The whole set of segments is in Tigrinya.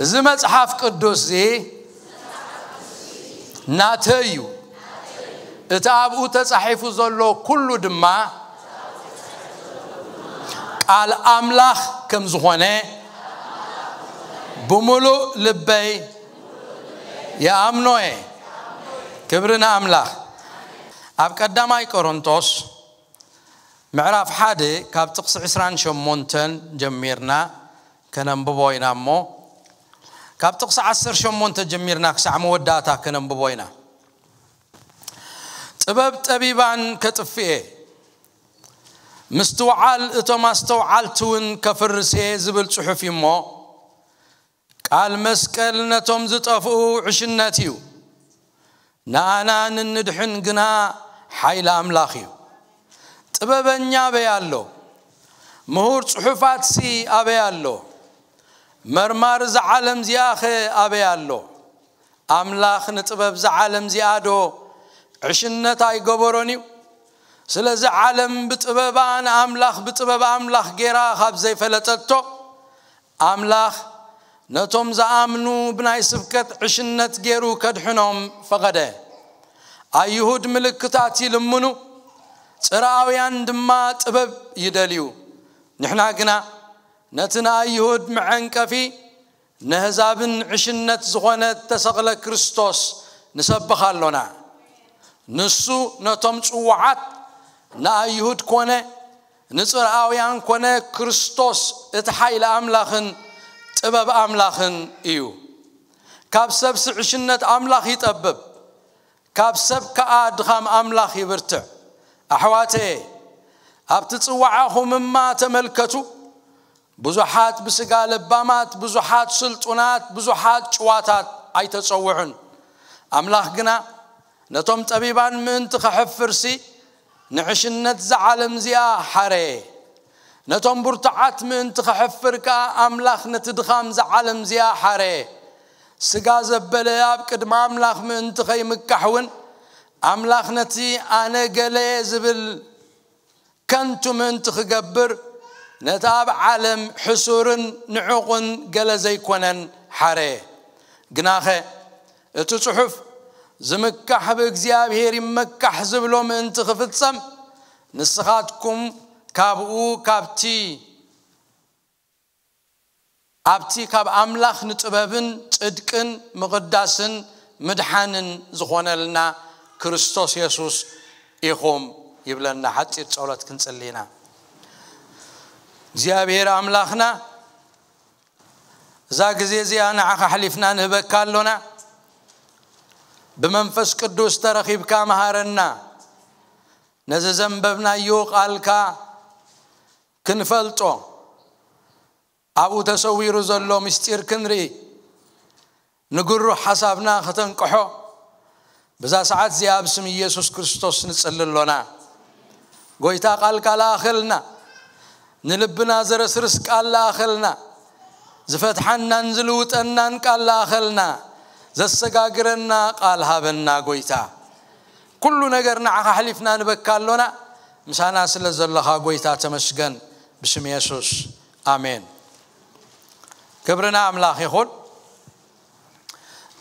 እዚ መጽሓፍ ቅዱስ እዚ ናተይ እዩ። እቲ ኣብኡ ተጻሒፉ ዘሎ ኩሉ ድማ ቃል ኣምላኽ ከም ዝኾነ ብምሉእ ልበይ ይኣምኖ እየ። ክብሪ ንኣምላኽ። ኣብ ቀዳማይ ቆሮንቶስ ምዕራፍ ሓደ ካብ ጥቕሲ ዕስራን ሸሞንተን ጀሚርና ከነንብቦ ኢና እሞ፣ ካብ ጥቕሲ ዓሰርተ ሸሞንተ ጀሚርና ክሳዕ መወዳእታ ከነንብቦ ኢና። ጥበብ ጠቢባን ከጥፍኤ፣ ምስትውዓል እቶም ኣስተውዓልቲ እውን ከፍርስ እየ ዝብል ጽሑፍ እዩ እሞ፣ ቃል መስቀል ነቶም ዝጠፍኡ ዕሽነት እዩ፣ ንኣና ንንድሕን ግና ሓይሊ ኣምላኽ እዩ። ጥበበኛ ኣበይ ኣሎ? ምሁር ጽሑፋትሲ ኣበይ ኣሎ? መርማሪ እዛ ዓለም እዚኣኸ ኣበይ ኣሎ? ኣምላኽ ንጥበብ እዛ ዓለም እዚኣ ዶ ዕሽነት ኣይገበሮን እዩ? ስለዚ ዓለም ብጥበባ ንኣምላኽ ብጥበብ ኣምላኽ ጌራ ካብ ዘይፈለጠቶ፣ ኣምላኽ ነቶም ዝኣምኑ ብናይ ስብከት ዕሽነት ገይሩ ከድሕኖም ፈቐደ። ኣይሁድ ምልክታት ይልምኑ፣ ጽርኣውያን ድማ ጥበብ ይደልዩ። ንሕና ግና ነቲ ንኣይሁድ መዐንቀፊ፣ ነህዛብን ዕሽነት ዝኾነ እተሰቕለ ክርስቶስ ንሰብኽ ኣሎና። ንሱ ነቶም ጽዉዓት ንኣይሁድ ኮነ ንጽርኣውያን ኮነ ክርስቶስ እቲ ሓይሊ ኣምላኽን ጥበብ ኣምላኽን እዩ። ካብ ሰብሲ ዕሽነት ኣምላኽ ይጠብብ፣ ካብ ሰብ ከኣ ድኻም ኣምላኽ ይብርትዕ። ኣሕዋተየ፣ ኣብቲ ጽዋዓኹም እማ ተመልከቱ። ብዙሓት ብስጋ ለባማት፣ ብዙሓት ስልጡናት፣ ብዙሓት ጭዋታት ኣይተጸውዑን። ኣምላኽ ግና ነቶም ጠቢባን ምእንቲ ኸሕፍርሲ ንዕሽነት እዛ ዓለም እዚኣ ሓረየ። ነቶም ብርቱዓት ምእንቲ ኸሕፍር ከኣ ኣምላኽ ነቲ ድኻም እዛ ዓለም እዚኣ ሓረየ። ስጋ ዘበለ ኣብ ቅድሚ ኣምላኽ ምእንቲ ኸይምካሕ እውን ኣምላኽ ነቲ ኣነ ገለ ዝብል ከንቱ ምእንቲ ክገብር ነቲ ኣብ ዓለም ሕሱርን ንዑቕን ገለ ዘይኮነን ሓረየ። ግናኸ እቲ ጽሑፍ ዝምካሕ ብእግዚኣብሔር ይመካሕ ዝብሎ ምእንቲ ክፍጸም ንስኻትኩም ካብኡ ካብቲ ኣብቲ ካብ ኣምላኽ ንጥበብን ጽድቅን ምቕዳስን ምድሓንን ዝኾነልና ክርስቶስ የሱስ ኢኹም ይብለና። ሓጺር ጸሎት ክንጽሊ ኢና። እግዚኣብሔር ኣምላኽና እዛ ግዜ እዚኣ ንዓኻ ኣሕሊፍና ንህበካ ኣሎና። ብመንፈስ ቅዱስ ተረኺብካ መሃረና። ነዚ ዘንበብናዮ ቃልካ ክንፈልጦ፣ ኣብኡ ተሰዊሩ ዘሎ ምስጢር ክንርኢ፣ ንግሩህ ሓሳብና ከተንቅሖ፣ ብዛ ሰዓት እዚኣ ኣብ ስም ኢየሱስ ክርስቶስ ንጽሊ ኣሎና። ጎይታ ቃልካ ለኣኸልና፣ ንልብና ዘረስርስ ቃል ለኣኸልና፣ ዝፈትሓናን ዝልውጠናን ቃል ለኣኸልና፣ ዘሰጋግረና ቃል ሃበና ጎይታ። ኩሉ ነገር ንዓኻ ኣሕሊፍና ንበካ ኣሎና። ምሳና ስለ ዘለኻ ጎይታ ተመስገን። ብስም የሱስ ኣሜን። ክብርና ኣምላኽ ይኹን።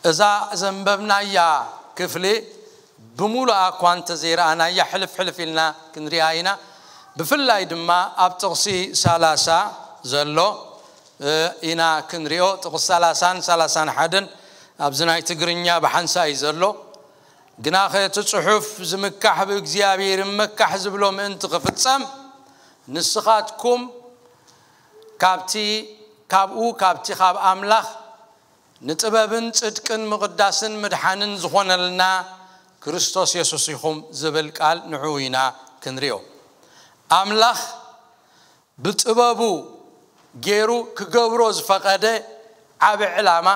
እዛ ዘንበብናያ ክፍሊ ብምሉኣ እኳ እንተዘይረኣናያ ሕልፍ ሕልፍ ኢልና ክንሪኣ ኢና። ብፍላይ ድማ ኣብ ጥቕሲ ሰላሳ ዘሎ እ፣ ኢና ክንሪኦ። ጥቕሲ ሰላሳን ሰላሳን ሓደን ኣብዚ ናይ ትግርኛ ብሓንሳእ እዩ ዘሎ። ግናኸ እቲ ጽሑፍ ዝምካሕ ብእግዚኣብሔር ይመካሕ ዝብሎ ምእንቲ ክፍጸም ንስኻትኩም ካብቲ ካብኡ ካብቲ ካብ ኣምላኽ ንጥበብን ጽድቅን ምቕዳስን ምድሓንን ዝኾነልና ክርስቶስ የሱስ ኢኹም ዝብል ቃል ንዕኡ ኢና ክንሪኦ። ኣምላኽ ብጥበቡ ገይሩ ክገብሮ ዝፈቐደ ዓቢ ዕላማ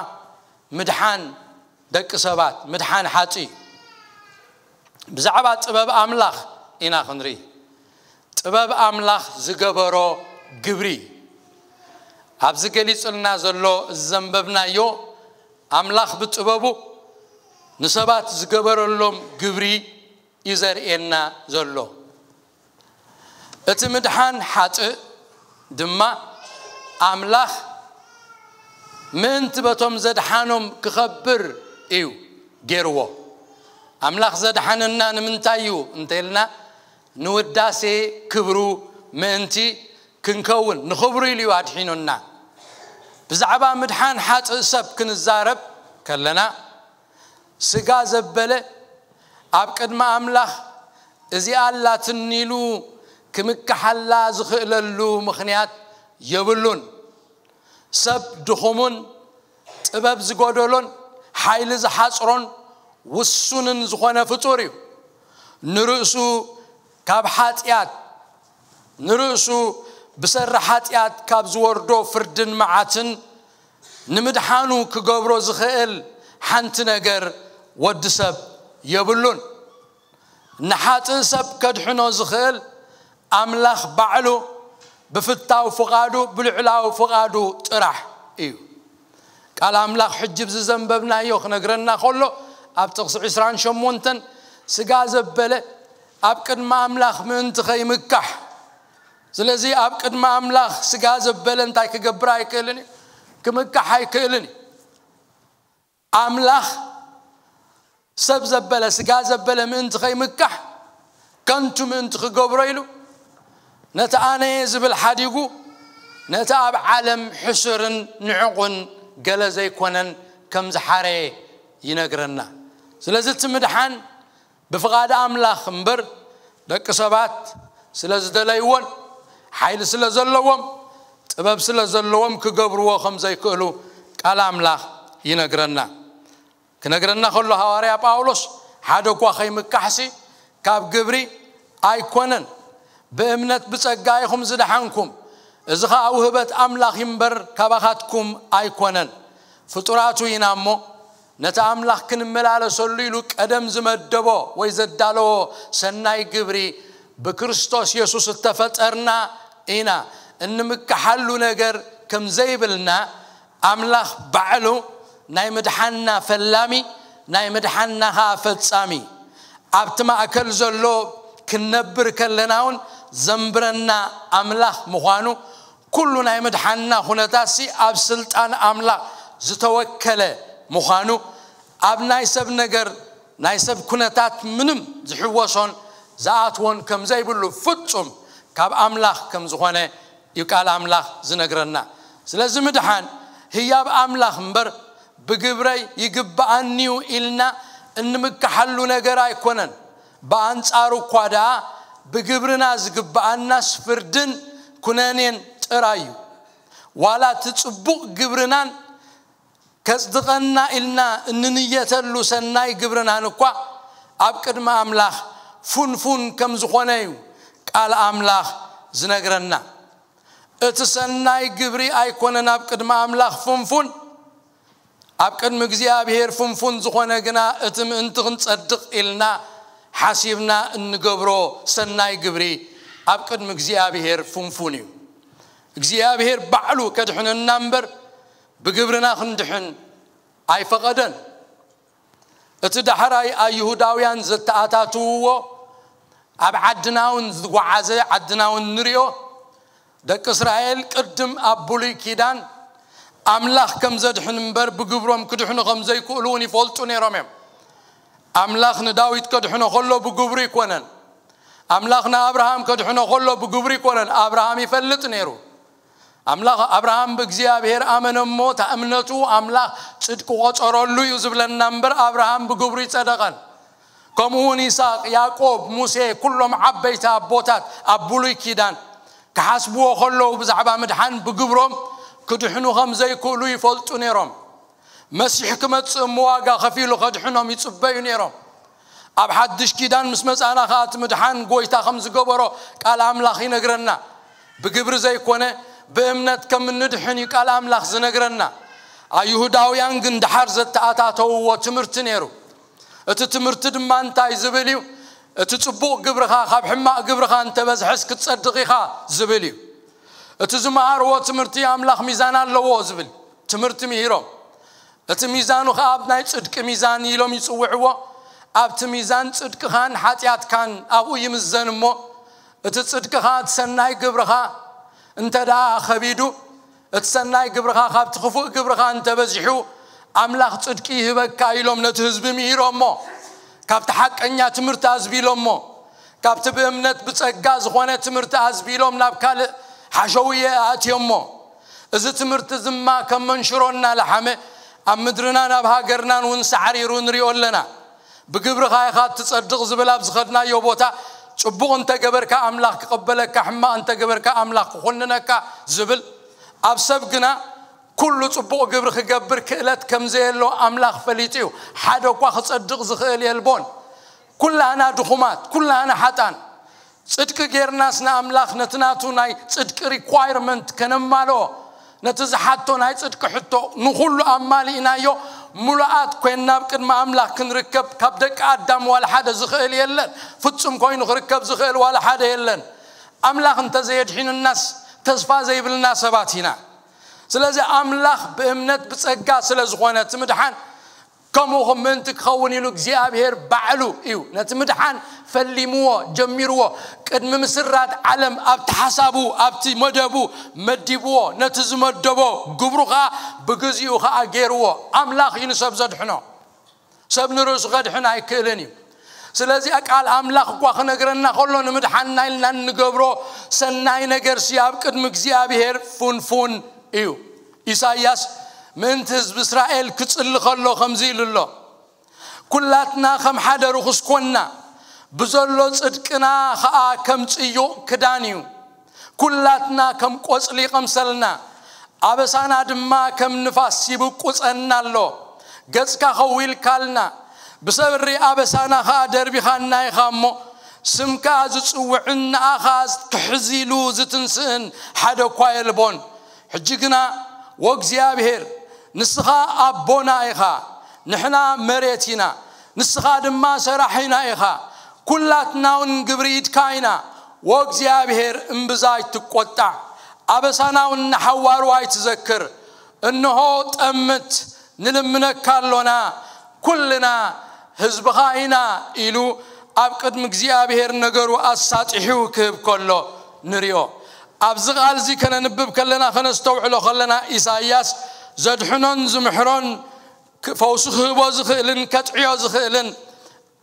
ምድሓን ደቂ ሰባት፣ ምድሓን ሓጢ እዩ። ብዛዕባ ጥበብ ኣምላኽ ኢና ክንርኢ። ጥበብ ኣምላኽ ዝገበሮ ግብሪ ኣብዚ ገሊጽልና ዘሎ፣ እዚ ዘንበብናዮ፣ ኣምላኽ ብጥበቡ ንሰባት ዝገበረሎም ግብሪ እዩ ዘርእየና ዘሎ። እቲ ምድሓን ሓጥእ ድማ ኣምላኽ ምእንቲ በቶም ዘድሓኖም ክኸብር እዩ ገይርዎ። ኣምላኽ ዘድሓነና ንምንታይ እዩ እንተልና፣ ንውዳሴ ክብሩ ምእንቲ ክንከውን፣ ንኽብሩ ኢሉ እዩ ኣድሒኑና። ብዛዕባ ምድሓን ሓጥእ ሰብ ክንዛረብ ከለና፣ ስጋ ዘበለ ኣብ ቅድሚ ኣምላኽ እዚኣ ኣላትኒ ኢሉ ክምክሓላ ዝኽእለሉ ምኽንያት የብሉን። ሰብ ድኹሙን ጥበብ ዝጎደሎን ሓይሊ ዝሓጽሮን ውሱንን ዝኾነ ፍጡር እዩ። ንርእሱ ካብ ሓጢኣት ንርእሱ ብሰሪ ሓጢኣት ካብ ዝወርዶ ፍርድን መዓትን ንምድሓኑ ክገብሮ ዝኽእል ሓንቲ ነገር ወዲ ሰብ የብሉን። ንሓጥእ ሰብ ከድሕኖ ዝኽእል ኣምላኽ ባዕሉ ብፍታው ፍቓዱ፣ ብልዕላዊ ፍቓዱ ጥራሕ እዩ። ቃል ኣምላኽ ሕጂ ብዝዘንበብናዮ ክነግረና ከሎ፣ ኣብ ጥቕሲ ዕስራን ሸሞንተን፣ ስጋ ዘበለ ኣብ ቅድሚ ኣምላኽ ምእንቲ ኸይምካሕ፣ ስለዚ ኣብ ቅድሚ ኣምላኽ ስጋ ዘበለ እንታይ ክገብር ኣይክእልን እዩ? ክምካሕ ኣይክእልን እዩ። ኣምላኽ ሰብ ዘበለ፣ ስጋ ዘበለ ምእንቲ ኸይምካሕ፣ ከንቱ ምእንቲ ክገብሮ ኢሉ፣ ነቲ ኣነየ ዝብል ሓዲጉ፣ ነቲ ኣብ ዓለም ሕሱርን ንዕቑን ገለ ዘይኮነን ከም ዝሓረየ ይነግረና። ስለዚ እቲ ምድሓን ብፍቓድ ኣምላኽ እምበር፣ ደቂ ሰባት ስለ ዝደለይዎን ሓይሊ ስለ ዘለዎም፣ ጥበብ ስለ ዘለዎም ክገብርዎ ከም ዘይክእሉ ቃል ኣምላኽ ይነግረና። ክነግረና ከሎ ሃዋርያ ጳውሎስ፣ ሓደ እኳ ኸይምካሕሲ ካብ ግብሪ ኣይኮነን፣ ብእምነት ብጸጋ ኢኹም ዝደሓንኩም፣ እዚ ኸኣ ውህበት ኣምላኽ እዩ እምበር ካባኻትኩም ኣይኮነን። ፍጡራቱ ኢና እሞ፣ ነቲ ኣምላኽ ክንመላለሰሉ ኢሉ ቀደም ዝመደቦ ወይ ዘዳለዎ ሰናይ ግብሪ፣ ብክርስቶስ የሱስ እተፈጠርና ኢና። እንምካሓሉ ነገር ከም ዘይብልና፣ ኣምላኽ ባዕሉ ናይ ምድሓንና ፈላሚ፣ ናይ ምድሓንና ኸኣ ፈጻሚ፣ ኣብቲ ማእከል ዘሎ ክንነብር ከለና እውን ዘንብረና ኣምላኽ ምዃኑ፣ ኩሉ ናይ ምድሓንና ኩነታትሲ ኣብ ስልጣን ኣምላኽ ዝተወከለ ምዃኑ፣ ኣብ ናይ ሰብ ነገር፣ ናይ ሰብ ኩነታት ምንም ዝሕወሶን ዝኣትዎን ከም ዘይብሉ፣ ፍጹም ካብ ኣምላኽ ከም ዝኾነ እዩ ቃል ኣምላኽ ዝነግረና። ስለዚ ምድሓን ህያብ ኣምላኽ እምበር፣ ብግብረይ ይግብኣኒዩ ኢልና እንምካሓሉ ነገር ኣይኮነን። ብኣንጻሩ እኳ ደኣ፣ ብግብርና ዝግብኣናስ ፍርድን ኩነኔን ጥራይ እዩ። ዋላ እቲ ጽቡቕ ግብርናን ከጽድቐና ኢልና እንንየተሉ ሰናይ ግብርናን እኳ፣ ኣብ ቅድሚ ኣምላኽ ፍንፉን ከም ዝኾነ እዩ ቃል ኣምላኽ ዝነግረና። እቲ ሰናይ ግብሪ ኣይኮነን ኣብ ቅድሚ ኣምላኽ ፍንፉን፣ ኣብ ቅድሚ እግዚኣብሔር ፍንፉን ዝኾነ ግና፣ እቲ ምእንቲ ክንጸድቕ ኢልና ሓሲብና እንገብሮ ሰናይ ግብሪ፣ ኣብ ቅድሚ እግዚኣብሔር ፍንፉን እዩ። እግዚኣብሔር ባዕሉ ከድሕነና እምበር፣ ብግብርና ክንድሕን ኣይፈቐደን። እቲ ዳሕራይ ኣይሁዳውያን ዘተኣታትውዎ፣ ኣብ ዓድና እውን ዝወዓዘ፣ ዓድና እውን ንሪኦ። ደቂ እስራኤል ቅድም ኣብ ብሉይ ኪዳን ኣምላኽ ከም ዘድሕን እምበር፣ ብግብሮም ክድሕኑ ከም ዘይክእሉ እውን ይፈልጡ ነይሮም እዮም። ኣምላኽ ንዳዊት ከድሕኖ ከሎ ብግብሩ ይኮነን። ኣምላኽ ንኣብርሃም ከድሕኖ ከሎ ብግብሩ ይኮነን። ኣብርሃም ይፈልጥ ነይሩ። ኣምላኽ፣ ኣብርሃም ብእግዚኣብሔር ኣመነ እሞ፣ እታ እምነቱ ኣምላኽ ጽድቂ ቆጸረሉ እዩ ዝብለና እምበር፣ ኣብርሃም ብግብሩ ይጸደቐን። ከምኡ እውን ይስሐቅ፣ ያዕቆብ፣ ሙሴ፣ ኩሎም ዓበይቲ ኣቦታት ኣብ ብሉይ ኪዳን ክሓስብዎ ከለዉ፣ ብዛዕባ ምድሓን ብግብሮም ክድሕኑ ከም ዘይክእሉ ይፈልጡ ነይሮም። መሲሕ ክመጽእ እሞ ዋጋ ከፊሉ ከድሕኖም ይጽበዩ ነይሮም። ኣብ ሓድሽ ኪዳን ምስ መጻና ኸኣ፣ እቲ ምድሓን ጐይታ ከም ዝገበሮ ቃል ኣምላኽ ይነግረና። ብግብሪ ዘይኮነ፣ ብእምነት ከም እንድሕን እዩ ቃል ኣምላኽ ዝነግረና። ኣይሁዳውያን ግን ደሓር ዘተኣታተውዎ ትምህርቲ ነይሩ። እቲ ትምህርቲ ድማ እንታይ ዝብል እዩ? እቲ ጽቡቕ ግብርኻ ካብ ሕማቕ ግብርኻ እንተበዝሐስ ክትጸድቕ ኢኻ ዝብል እዩ። እቲ ዝመሃርዎ ትምህርቲ ኣምላኽ ሚዛን ኣለዎ ዝብል ትምህርቲ ምሂሮም። እቲ ሚዛኑ ኸኣ ኣብ ናይ ጽድቂ ሚዛን ኢሎም ይጽውዕዎ። ኣብቲ ሚዛን ጽድቅኻን ሓጢኣትካን ኣብኡ ይምዘን እሞ፣ እቲ ጽድቅኻ፣ እቲ ሰናይ ግብርኻ እንተ ደኣ ኸቢዱ፣ እቲ ሰናይ ግብርኻ ካብቲ ክፉእ ግብርኻ እንተበዚሑ ኣምላኽ ጽድቂ ይህበካ ኢሎም ነቲ ህዝቢ ምሂሮሞ። ካብቲ ሓቀኛ ትምህርቲ ኣዝቢሎሞ። ካብቲ ብእምነት ብጸጋ ዝኾነ ትምህርቲ ኣዝቢሎም ናብ ካልእ ሓሸውየ ኣእትዮሞ። እዚ ትምህርቲ ዝማ ከም መንሽሮ እናለሓመ ኣብ ምድርናን ኣብ ሃገርናን እውን ሳዕሪሩ ንሪኦ ኣለና። ብግብርኻ ኢኻ እትጸድቕ ዝብል ኣብ ዝኸድናዮ ቦታ ጽቡቕ እንተገበርካ ኣምላኽ ክቕበለካ፣ ሕማቕ እንተገበርካ ኣምላኽ ክኹንነካ ዝብል ኣብ ሰብ ግና ኩሉ ጽቡቕ ግብሪ ክገብር ክእለት ከም ዘየሎ ኣምላኽ ፈሊጡ እዩ። ሓደ እኳ ክጸድቕ ዝኽእል የልቦን። ኩላህና ድኹማት፣ ኩላህና ሓጣን። ጽድቂ ጌርናስ ንኣምላኽ ነቲ ናቱ ናይ ጽድቂ ሪኳይርመንት ከነማልኦ፣ ነቲ ዝሓቶ ናይ ጽድቂ ሕቶ ንኹሉ ኣማሊእናዮ፣ ምሉኣት ኮይንና ኣብ ቅድሚ ኣምላኽ ክንርከብ ካብ ደቂ ኣዳም ዋላ ሓደ ዝኽእል የለን። ፍጹም ኮይኑ ክርከብ ዝኽእል ዋላ ሓደ የለን። ኣምላኽ እንተዘየድሒኑናስ ተስፋ ዘይብልና ሰባት ኢና። ስለዚ ኣምላኽ ብእምነት ብጸጋ ስለ ዝኾነ እቲ ምድሓን ከምኡ ከም ምእንቲ ክኸውን ኢሉ እግዚኣብሔር ባዕሉ እዩ ነቲ ምድሓን ፈሊምዎ፣ ጀሚርዎ። ቅድሚ ምስራት ዓለም ኣብቲ ሓሳቡ፣ ኣብቲ መደቡ መዲብዎ። ነቲ ዝመደቦ ግብሩ ኸኣ ብግዚኡ ኸኣ ገይርዎ። ኣምላኽ እዩ ንሰብ ዘድሕኖ። ሰብ ንርእሱ ከድሕን ኣይክእልን እዩ። ስለዚ ቃል ኣምላኽ እኳ ክነግረና ከሎ ንምድሓንና ኢልና እንገብሮ ሰናይ ነገርሲ ኣብ ቅድሚ እግዚኣብሔር ፍንፉን እዩ። ኢሳይያስ ምእንቲ ህዝቢ እስራኤል ክጽሊ ከሎ ከምዚ ኢሉ ኣሎ፣ "ኩላትና ከም ሓደ ርኹስ ኮንና፣ ብዘሎ ጽድቅና ኸኣ ከም ጽዩቕ ክዳን እዩ። ኩላትና ከም ቆጽሊ ቐምሰልና፣ ኣበሳና ድማ ከም ንፋስ ይብቁጸና ኣሎ። ገጽካ ኸዊልካልና፣ ብሰሪ ኣበሳና ኸኣ ደርቢኻና ኢኻ እሞ፣ ስምካ ዝጽውዕን ንኣኻ ክሕዚሉ ዝትንስእን ሓደ እኳ የልቦን። ሕጂ ግና ወእግዚኣብሔር፣ ንስኻ ኣቦና ኢኻ፣ ንሕና መሬት ኢና፣ ንስኻ ድማ ሰራሒና ኢኻ፣ ኩላትና እውን ግብሪ ኢድካ ኢና። ወእግዚኣብሔር እምብዛ ኣይትቆጣዕ፣ ኣበሳና እውን ንሓዋሩ ኣይትዘክር። እንሆ ጠምት፣ ንልምነካ ኣሎና፣ ኩልና ህዝብኻ ኢና" ኢሉ ኣብ ቅድሚ እግዚኣብሔር ነገሩ ኣሳጢሑ ክህብ ከሎ ንሪኦ። ኣብዚ ቃል እዚ ከነንብብ ከለና ከነስተውዕሎ ከለና ኢሳይያስ ዘድሕኖን ዝምሕሮን ክ-፣ ፈውሲ ክህቦ ዝኽእልን ከጥዕዮ ዝኽእልን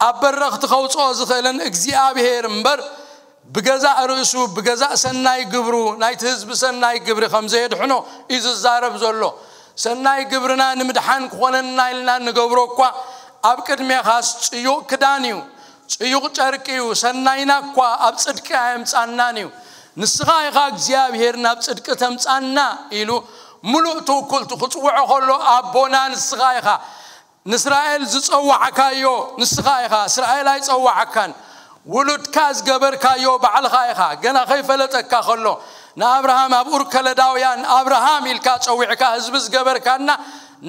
ኣብ በረኽቲ ከውፅኦ ዝኽእልን እግዚኣብሔር እምበር ብገዛእ ርእሱ ብገዛእ ሰናይ ግብሩ ናይቲ ህዝቢ ሰናይ ግብሪ ከም ዘየድሕኖ እዩ ዝዛረብ ዘሎ። ሰናይ ግብርና ንምድሓን ክኾነና ኢልና እንገብሮ እኳ ኣብ ቅድሜኻስ ጽዩቕ ክዳን እዩ፣ ጽዩቕ ጨርቂ እዩ፣ ሰናይና እኳ ኣብ ጽድቂ ኣየምጻናን እዩ። ንስኻ ኢኻ እግዚኣብሔር ናብ ጽድቂ ተምጻና ኢሉ ምሉእ ትውክልቱ ክጽውዖ ከሎ ኣቦና ንስኻ ኢኻ። ንእስራኤል ዝጸዋዕካዮ ንስኻ ኢኻ። እስራኤል ኣይጸዋዕካን። ውሉድካ ዝገበርካዮ ባዕልኻ ኢኻ። ገና ከይፈለጠካ ከሎ ንኣብርሃም ኣብ ኡር ከለዳውያን ኣብርሃም ኢልካ ጸዊዕካ ህዝቢ ዝገበርካና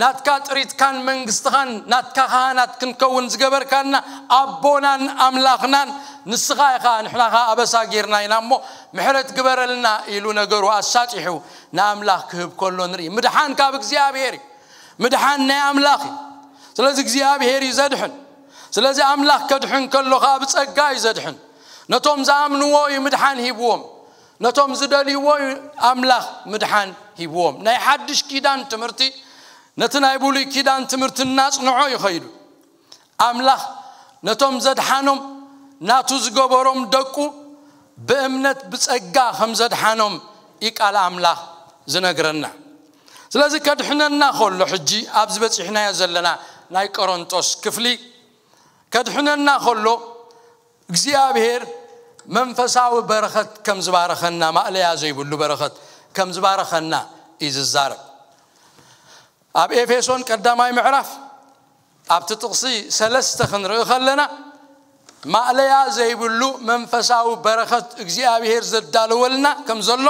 ናትካ ጥሪትካን መንግስትኻን ናትካ ካህናት ክንከውን ዝገበርካና ኣቦናን ኣምላኽናን ንስኻ ኢኻ። ንሕና ኸኣ ኣበሳ ጌርና ኢና እሞ ምሕረት ግበረልና ኢሉ ነገሩ ኣሳጢሑ ንኣምላኽ ክህብ ከሎ ንርኢ። ምድሓን ካብ እግዚኣብሔር እዩ። ምድሓን ናይ ኣምላኽ እዩ። ስለዚ እግዚኣብሔር እዩ ዘድሕን። ስለዚ ኣምላኽ ከድሕን ከሎ ኸኣ ብጸጋ እዩ ዘድሕን። ነቶም ዝኣምንዎ እዩ ምድሓን ሂብዎም። ነቶም ዝደልይዎ እዩ ኣምላኽ ምድሓን ሂብዎም። ናይ ሓድሽ ኪዳን ትምህርቲ ነቲ ናይ ብሉይ ኪዳን ትምህርቲ እናጽንዖ እዩ ኸይዱ። ኣምላኽ ነቶም ዘድሓኖም ናቱ ዝገበሮም ደቁ ብእምነት ብጸጋ ከም ዘድሓኖም እዩ ቃል ኣምላኽ ዝነግረና። ስለዚ ከድሕነና ከሎ ሕጂ ኣብዚ በጺሕናዮ ዘለና ናይ ቆሮንጦስ ክፍሊ ከድሕነና ከሎ እግዚኣብሔር መንፈሳዊ በረኸት ከም ዝባረኸና ማእለያ ዘይብሉ በረኸት ከም ዝባረኸና እዩ ዝዛረብ። ኣብ ኤፌሶን ቀዳማይ ምዕራፍ ኣብቲ ጥቕሲ ሰለስተ ክንርኢ ከለና ማእለያ ዘይብሉ መንፈሳዊ በረኸት እግዚኣብሔር ዘዳለወልና ከም ዘሎ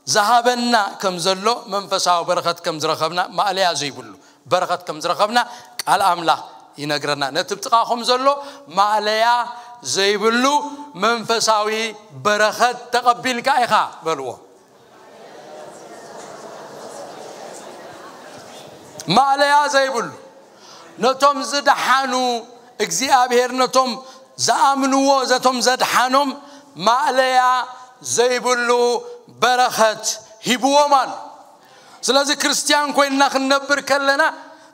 ዝሃበና ከም ዘሎ መንፈሳዊ በረኸት ከም ዝረኸብና ማእለያ ዘይብሉ በረኸት ከም ዝረኸብና ቃል ኣምላኽ ይነግረና። ነቲ ብጥቓኹም ዘሎ ማእለያ ዘይብሉ መንፈሳዊ በረኸት ተቐቢልካ ኢኻ በልዎ። ማእለያ ዘይብሉ ነቶም ዝደሓኑ እግዚኣብሔር ነቶም ዝኣምንዎ ዘቶም ዘድሓኖም ማእለያ ዘይብሉ በረኸት ሂብዎም ኣሎ። ስለዚ ክርስትያን ኮይንና ክንነብር ከለና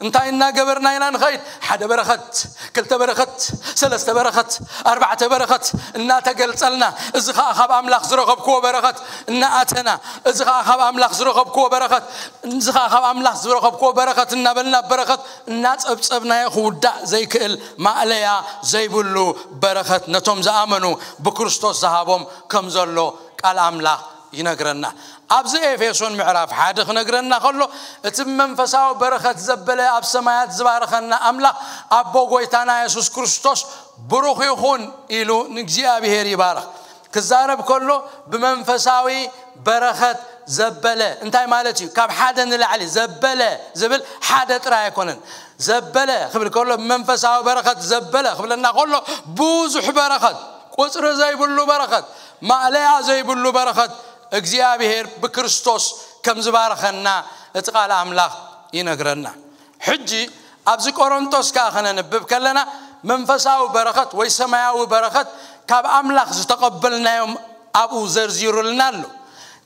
እንታይ እናገበርና ኢና ንኸይድ? ሓደ በረኸት፣ ክልተ በረኸት፣ ሰለስተ በረኸት፣ ኣርባዕተ በረኸት እናተገልጸልና፣ እዚ ኸዓ ካብ ኣምላኽ ዝረኸብክዎ በረኸት እናኣተና፣ እዚ ኸዓ ካብ ኣምላኽ ዝረኸብክዎ በረኸት፣ እዚ ኸዓ ካብ ኣምላኽ ዝረኸብክዎ በረኸት እናበልና፣ በረኸት እናጸብጸብናዮ ክውዳእ ዘይክእል፣ ማእለያ ዘይብሉ በረኸት ነቶም ዝኣመኑ ብክርስቶስ ዝሃቦም ከም ዘሎ ቃል ኣምላኽ ይነግረና። ኣብዚ ኤፌሶን ምዕራፍ ሓደ ክነግረና ከሎ፣ እቲ ብመንፈሳዊ በረኸት ዘበለ ኣብ ሰማያት ዝባረኸና ኣምላኽ፣ ኣቦ ጎይታና የሱስ ክርስቶስ ብሩኽ ይኹን ኢሉ ንእግዚኣብሔር ይባርኽ። ክዛረብ ከሎ ብመንፈሳዊ በረኸት ዘበለ እንታይ ማለት እዩ? ካብ ሓደ ንላዕሊ ዘበለ ዝብል ሓደ ጥራይ ኣይኮነን። ዘበለ ክብል ከሎ ብመንፈሳዊ በረኸት ዘበለ ክብለና ከሎ ብዙሕ በረኸት፣ ቁጽሪ ዘይብሉ በረኸት፣ ማእለያ ዘይብሉ በረኸት እግዚኣብሔር ብክርስቶስ ከም ዝባረኸና እቲ ቃል ኣምላኽ ይነግረና። ሕጂ ኣብዚ ቆሮንቶስ ከኣ ከነንብብ ከለና መንፈሳዊ በረኸት ወይ ሰማያዊ በረኸት ካብ ኣምላኽ ዝተቐበልናዮም ኣብኡ ዘርዚሩልና ኣሎ።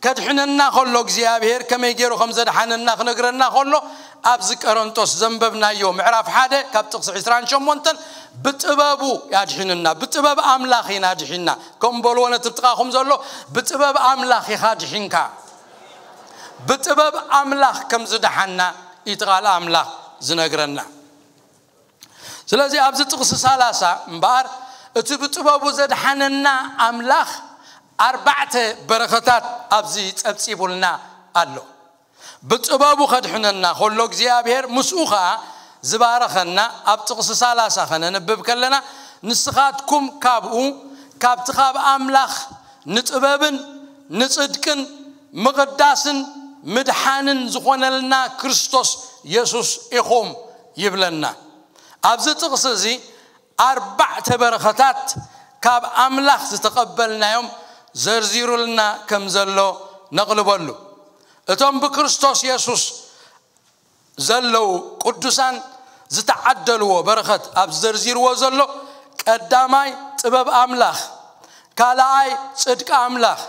ከድሕነና ከሎ እግዚኣብሔር ከመይ ገይሩ ከም ዘድሓነና ክነግረና ከሎ ኣብዚ ቆሮንቶስ ዘንበብናዮ ምዕራፍ ሓደ ካብ ጥቕሲ ዕስራን ሸሞንተን ብጥበቡ ያድሒንና፣ ብጥበብ ኣምላኽ ኢና ድሒንና። ከም በልዎ ነቲ ጥቓኹም ዘሎ ብጥበብ ኣምላኽ ኢኻ ድሒንካ። ብጥበብ ኣምላኽ ከም ዝደሓና እዩ እቲ ቃል ኣምላኽ ዝነግረና። ስለዚ ኣብዚ ጥቕሲ ሰላሳ እምበኣር እቲ ብጥበቡ ዘድሓነና ኣምላኽ ኣርባዕተ በረኸታት ኣብዚ ጸብጺቡልና ኣሎ። ብጥበቡ ከድሕነና ከሎ እግዚኣብሔር ምስኡ ኸኣ ዝባረኸና ኣብ ጥቕሲ ሰላሳ ከነንብብ ከለና ንስኻትኩም ካብኡ ካብቲ ካብ ኣምላኽ ንጥበብን ንጽድቅን ምቕዳስን ምድሓንን ዝኾነልና ክርስቶስ የሱስ ኢኹም ይብለና። ኣብዚ ጥቕሲ እዚ ኣርባዕተ በረኸታት ካብ ኣምላኽ ዝተቐበልናዮም ዘርዚሩልና ከም ዘሎ ነቕልበሉ። እቶም ብክርስቶስ የሱስ ዘለዉ ቅዱሳን ዝተዓደልዎ በረኸት ኣብ ዘርዚርዎ ዘሎ ቀዳማይ ጥበብ ኣምላኽ፣ ካልኣይ ጽድቂ ኣምላኽ፣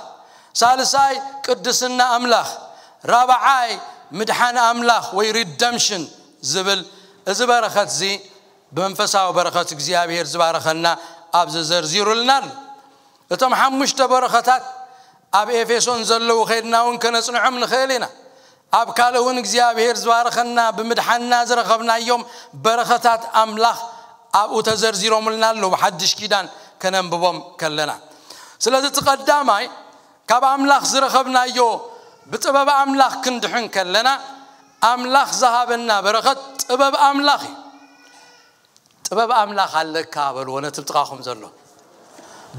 ሳልሳይ ቅድስና ኣምላኽ፣ ራብዓይ ምድሓን ኣምላኽ ወይ ሪደምሽን ዝብል እዚ በረኸት እዚ ብመንፈሳዊ በረኸት እግዚኣብሔር ዝባረኸና ኣብዚ ዘርዚሩልና ኣሎ። እቶም ሓሙሽተ በረኸታት ኣብ ኤፌሶን ዘለዉ ከይድና እውን ከነጽንዖም ንኽእል ኢና። ኣብ ካልእ እውን እግዚኣብሔር ዝባረኸና ብምድሓንና ዝረኸብናዮም በረኸታት ኣምላኽ ኣብኡ ተዘርዚሮምልና ኣለዉ፣ ብሓድሽ ኪዳን ከነንብቦም ከለና። ስለዚ እቲ ቀዳማይ ካብ ኣምላኽ ዝረኸብናዮ ብጥበብ ኣምላኽ ክንድሕን ከለና ኣምላኽ ዝሃበና በረኸት ጥበብ ኣምላኽ እዩ። ጥበብ ኣምላኽ ኣለካ በልዎ ነቲ ጥቓኹም ዘሎ።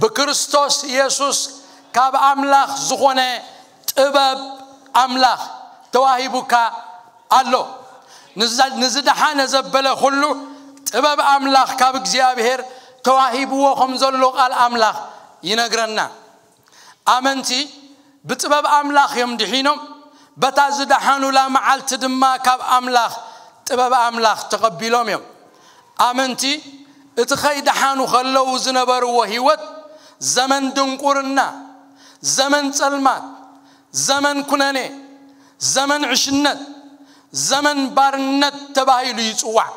ብክርስቶስ የሱስ ካብ ኣምላኽ ዝኾነ ጥበብ ኣምላኽ ተዋሂቡካ ኣሎ። ንዛ- ንዝደሓነ ዘበለ ኩሉ ጥበብ ኣምላኽ ካብ እግዚኣብሔር ተዋሂብዎ ከም ዘሎ ቃል ኣምላኽ ይነግረና። ኣመንቲ ብጥበብ ኣምላኽ እዮም ድሒኖም፣ በታ ዝደሓኑላ መዓልቲ ድማ ካብ ኣምላኽ ጥበብ ኣምላኽ ተቐቢሎም እዮም። ኣመንቲ እቲ ኸይደሓኑ ከለዉ ዝነበርዎ ህይወት ዘመን ድንቁርና፣ ዘመን ጸልማት፣ ዘመን ኩነኔ፣ ዘመን ዕሽነት፣ ዘመን ባርነት ተባሂሉ ይጽዋዕ።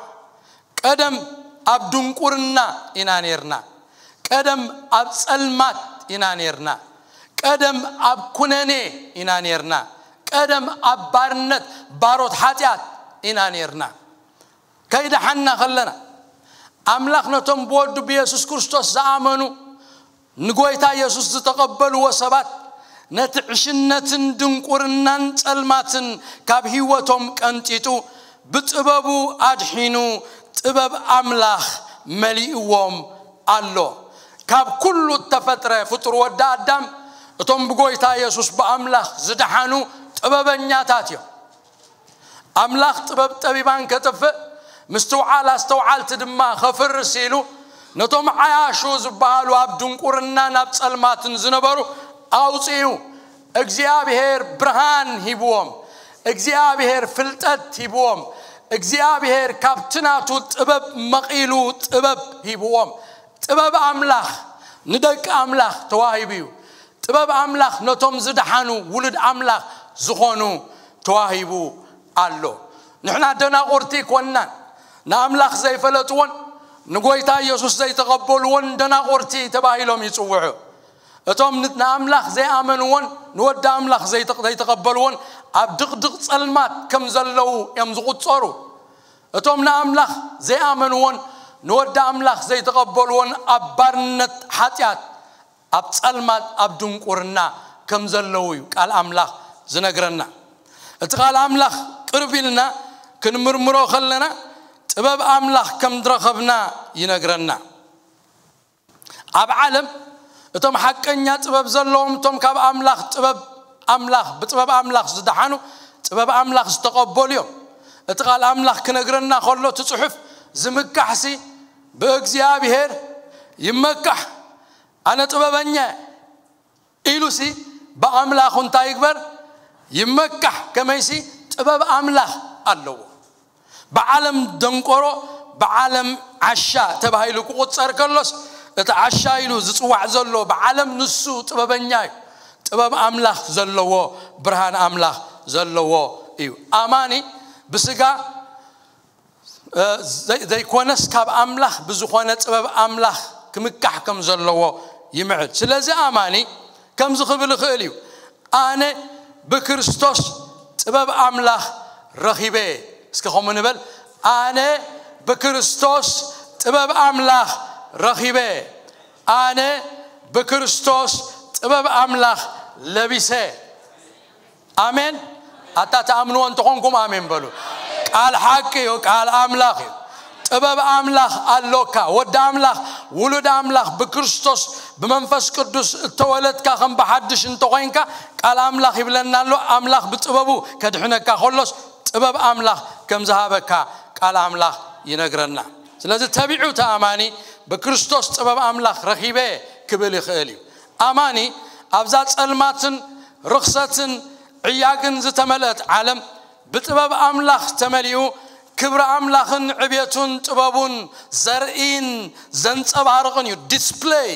ቀደም ኣብ ድንቁርና ኢና ኔርና። ቀደም ኣብ ጸልማት ኢና ኔርና። ቀደም ኣብ ኩነኔ ኢና ኔርና። ቀደም ኣብ ባርነት ባሮት ሓጢኣት ኢና ኔርና። ከይደሓንና ከለና ኣምላኽ ነቶም ብወዱ ብየሱስ ክርስቶስ ዝኣመኑ ንጎይታ የሱስ ዝተቐበልዎ ሰባት ነቲ ዕሽነትን ድንቁርናን ጸልማትን ካብ ህይወቶም ቀንጢጡ ብጥበቡ ኣድሒኑ ጥበብ ኣምላኽ መሊእዎም ኣሎ። ካብ ኩሉ እተፈጥረ ፍጡር ወዲ ኣዳም እቶም ብጎይታ የሱስ ብኣምላኽ ዝደሓኑ ጥበበኛታት እዮም። ኣምላኽ ጥበብ ጠቢባን ከጥፍእ ምስትውዓል ኣስተውዓልቲ ድማ ከፍርስ ኢሉ ነቶም ዓያሹ ዝበሃሉ ኣብ ድንቁርናን ኣብ ጸልማትን ዝነበሩ ኣውፅኡ። እግዚኣብሔር ብርሃን ሂብዎም። እግዚኣብሔር ፍልጠት ሂብዎም። እግዚኣብሔር ካብቲ ናቱ ጥበብ መቒሉ ጥበብ ሂብዎም። ጥበብ ኣምላኽ ንደቂ ኣምላኽ ተዋሂቡ እዩ። ጥበብ ኣምላኽ ነቶም ዝደሓኑ ውሉድ ኣምላኽ ዝኾኑ ተዋሂቡ ኣሎ። ንሕና ደናቑርቲ ኮንናን ንኣምላኽ ዘይፈለጥዎን ንጎይታ ኢየሱስ ዘይተቐበልዎን ደናቑርቲ ተባሂሎም ይጽውዑ። እቶም ን-፣ ንኣምላኽ ዘይኣመንዎን ንወዲ ኣምላኽ ዘይተ-፣ ዘይተቐበልዎን ኣብ ድቕድቕ ጸልማት ከም ዘለዉ እዮም ዝቑጸሩ። እቶም ንኣምላኽ ዘይኣመንዎን ንወዲ ኣምላኽ ዘይተቐበልዎን ኣብ ባርነት ሓጢኣት፣ ኣብ ጸልማት፣ ኣብ ድንቁርና ከም ዘለዉ እዩ ቃል ኣምላኽ ዝነግረና። እቲ ቃል ኣምላኽ ቅርብ ኢልና ክንምርምሮ ከለና ጥበብ ኣምላኽ ከም ዝረኸብና ይነግረና። ኣብ ዓለም እቶም ሓቀኛ ጥበብ ዘለዎም፣ እቶም ካብ ኣምላኽ ጥበብ ኣምላኽ፣ ብጥበብ ኣምላኽ ዝደሓኑ፣ ጥበብ ኣምላኽ ዝተቐበሉ እዮም። እቲ ቃል ኣምላኽ ክነግረና ከሎ እቲ ጽሑፍ ዝምካሕሲ ብእግዚኣብሔር ይመካሕ። ኣነ ጥበበኛ እየ ኢሉሲ ብኣምላኹ እንታይ ይግበር? ይመካሕ። ከመይሲ ጥበብ ኣምላኽ ኣለዎ። ብዓለም ደንቆሮ፣ ብዓለም ዓሻ ተባሂሉ ክቑጸር ከሎስ፣ እቲ ዓሻ ኢሉ ዝጽዋዕ ዘሎ ብዓለም ንሱ ጥበበኛ እዩ። ጥበብ ኣምላኽ ዘለዎ፣ ብርሃን ኣምላኽ ዘለዎ እዩ። ኣማኒ ብስጋ፣ እ፣ ዘይ-፣ ዘይኮነስ ካብ ኣምላኽ ብዝኾነ ጥበብ ኣምላኽ ክምካሕ ከም ዘለዎ ይምዕድ። ስለዚ ኣማኒ ከምዚ ክብል ይኽእል እዩ፣ "ኣነ ብክርስቶስ ጥበብ ኣምላኽ ረኺበ።" እስኪ ከምኡ ንበል፣ "ኣነ ብክርስቶስ ጥበብ ኣምላኽ ረኺበ። ኣነ ብክርስቶስ ጥበብ ኣምላኽ ለቢሰ።" ኣሜን። ኣታ ትኣምንዎ እንተኾንኩም ኣሜን በሉ። ቃል ሓቂ እዩ፣ ቃል ኣምላኽ እዩ። ጥበብ ኣምላኽ ኣሎካ። ወዲ ኣምላኽ፣ ውሉድ ኣምላኽ፣ ብክርስቶስ ብመንፈስ ቅዱስ እተወለድካ ከም ብሓድሽ እንተኾይንካ፣ ቃል ኣምላኽ ይብለና ኣሎ፣ ኣምላኽ ብጥበቡ ከድሕነካ ከሎስ ጥበብ ኣምላኽ ከም ዝሃበካ ቃል ኣምላኽ ይነግረና። ስለዚ ተቢዑ እቲ ኣማኒ ብክርስቶስ ጥበብ ኣምላኽ ረኺበ ክብል ይኽእል እዩ። ኣማኒ ኣብዛ ጸልማትን ርኽሰትን ዕያግን ዝተመልአት ዓለም ብጥበብ ኣምላኽ ተመሊኡ፣ ክብሪ ኣምላኽን ዕቤቱን ጥበቡን ዘርኢን ዘንጸባርቕን እዩ። ዲስፕለይ፣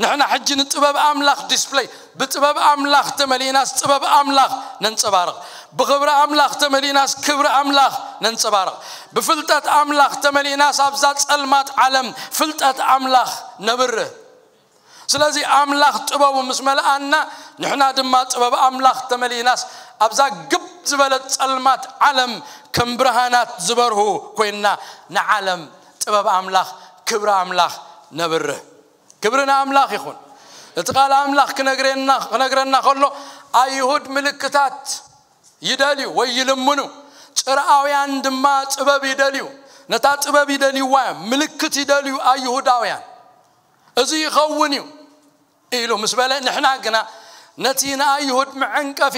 ንሕና ሕጂ ንጥበብ ኣምላኽ ዲስፕለይ፣ ብጥበብ ኣምላኽ ተመሊእናስ ጥበብ ኣምላኽ ነንጸባርቕ። ብኽብሪ ኣምላኽ ተመሊእናስ ክብሪ ኣምላኽ ነንጸባርቕ። ብፍልጠት ኣምላኽ ተመሊእናስ ኣብዛ ጸልማት ዓለም ፍልጠት ኣምላኽ ነብርህ። ስለዚ ኣምላኽ ጥበቡ ምስ መልኣና፣ ንሕና ድማ ጥበብ ኣምላኽ ተመሊእናስ ኣብዛ ግብ ዝበለት ጸልማት ዓለም ከም ብርሃናት ዝበርሁ ኮይንና ንዓለም ጥበብ ኣምላኽ፣ ክብሪ ኣምላኽ ነብርህ። ክብሪ ንኣምላኽ ይኹን። እቲ ቃል ኣምላኽ ክነግረና፣ ክነግረና ከሎ፣ ኣይሁድ ምልክታት ይደልዩ ወይ ይልምኑ፣ ጽርኣውያን ድማ ጥበብ ይደልዩ። ነታ ጥበብ ይደልይዋ እዮም፣ ምልክት ይደልዩ ኣይሁዳውያን። እዚ ይኸውን እዩ ኢሉ ምስ በለ፣ ንሕና ግና ነቲ ንኣይሁድ መዐንቀፊ፣